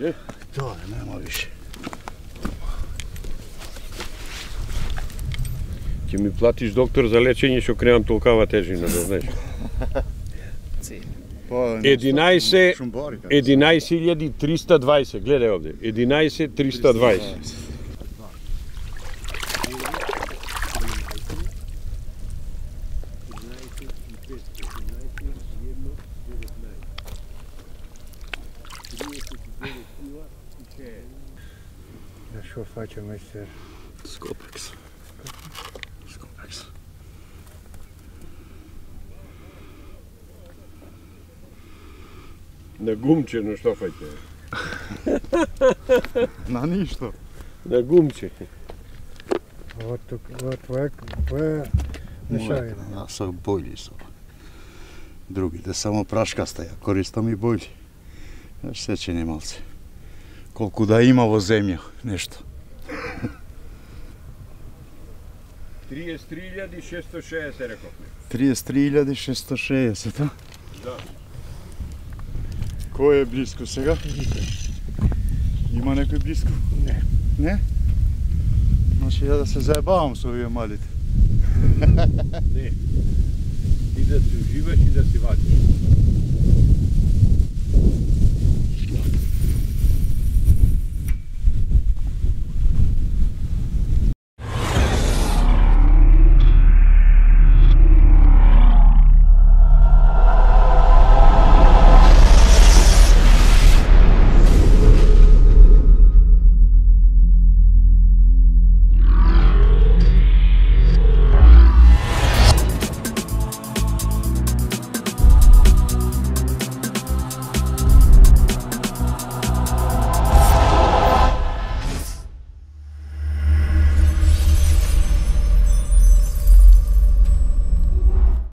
Speaker 5: Е?
Speaker 3: Тоа е, нема више.
Speaker 5: Ќе ми платиш доктор за лечење што кремам толкава тежина, да знаеш. единаесет илјади триста дваесет, гледај овде, единаесет триста дваесет.
Speaker 13: Да што фаќаме се?
Speaker 3: Скопекс. Скопекс.
Speaker 5: На гумче, на што фаќа?
Speaker 3: На ништо.
Speaker 5: На гумче.
Speaker 13: Ова тук, ова твоја, твоја мешавина.
Speaker 3: Јас сум бољи сум. Другите само прашкаста, ја користам и бољи. Знаеш, сечени малце. Колку да има во земја, нешто.
Speaker 5: триесет три илјади шеста шеесет рековме.
Speaker 3: триесет три илјади шеста шеесет, а?
Speaker 5: Да.
Speaker 3: Кој е близко сега? Има некој близко?
Speaker 13: Не.
Speaker 3: Не? Значи ја да се заебавам со овие малите.
Speaker 5: Не. Ти да се уживаш и да си вадиш.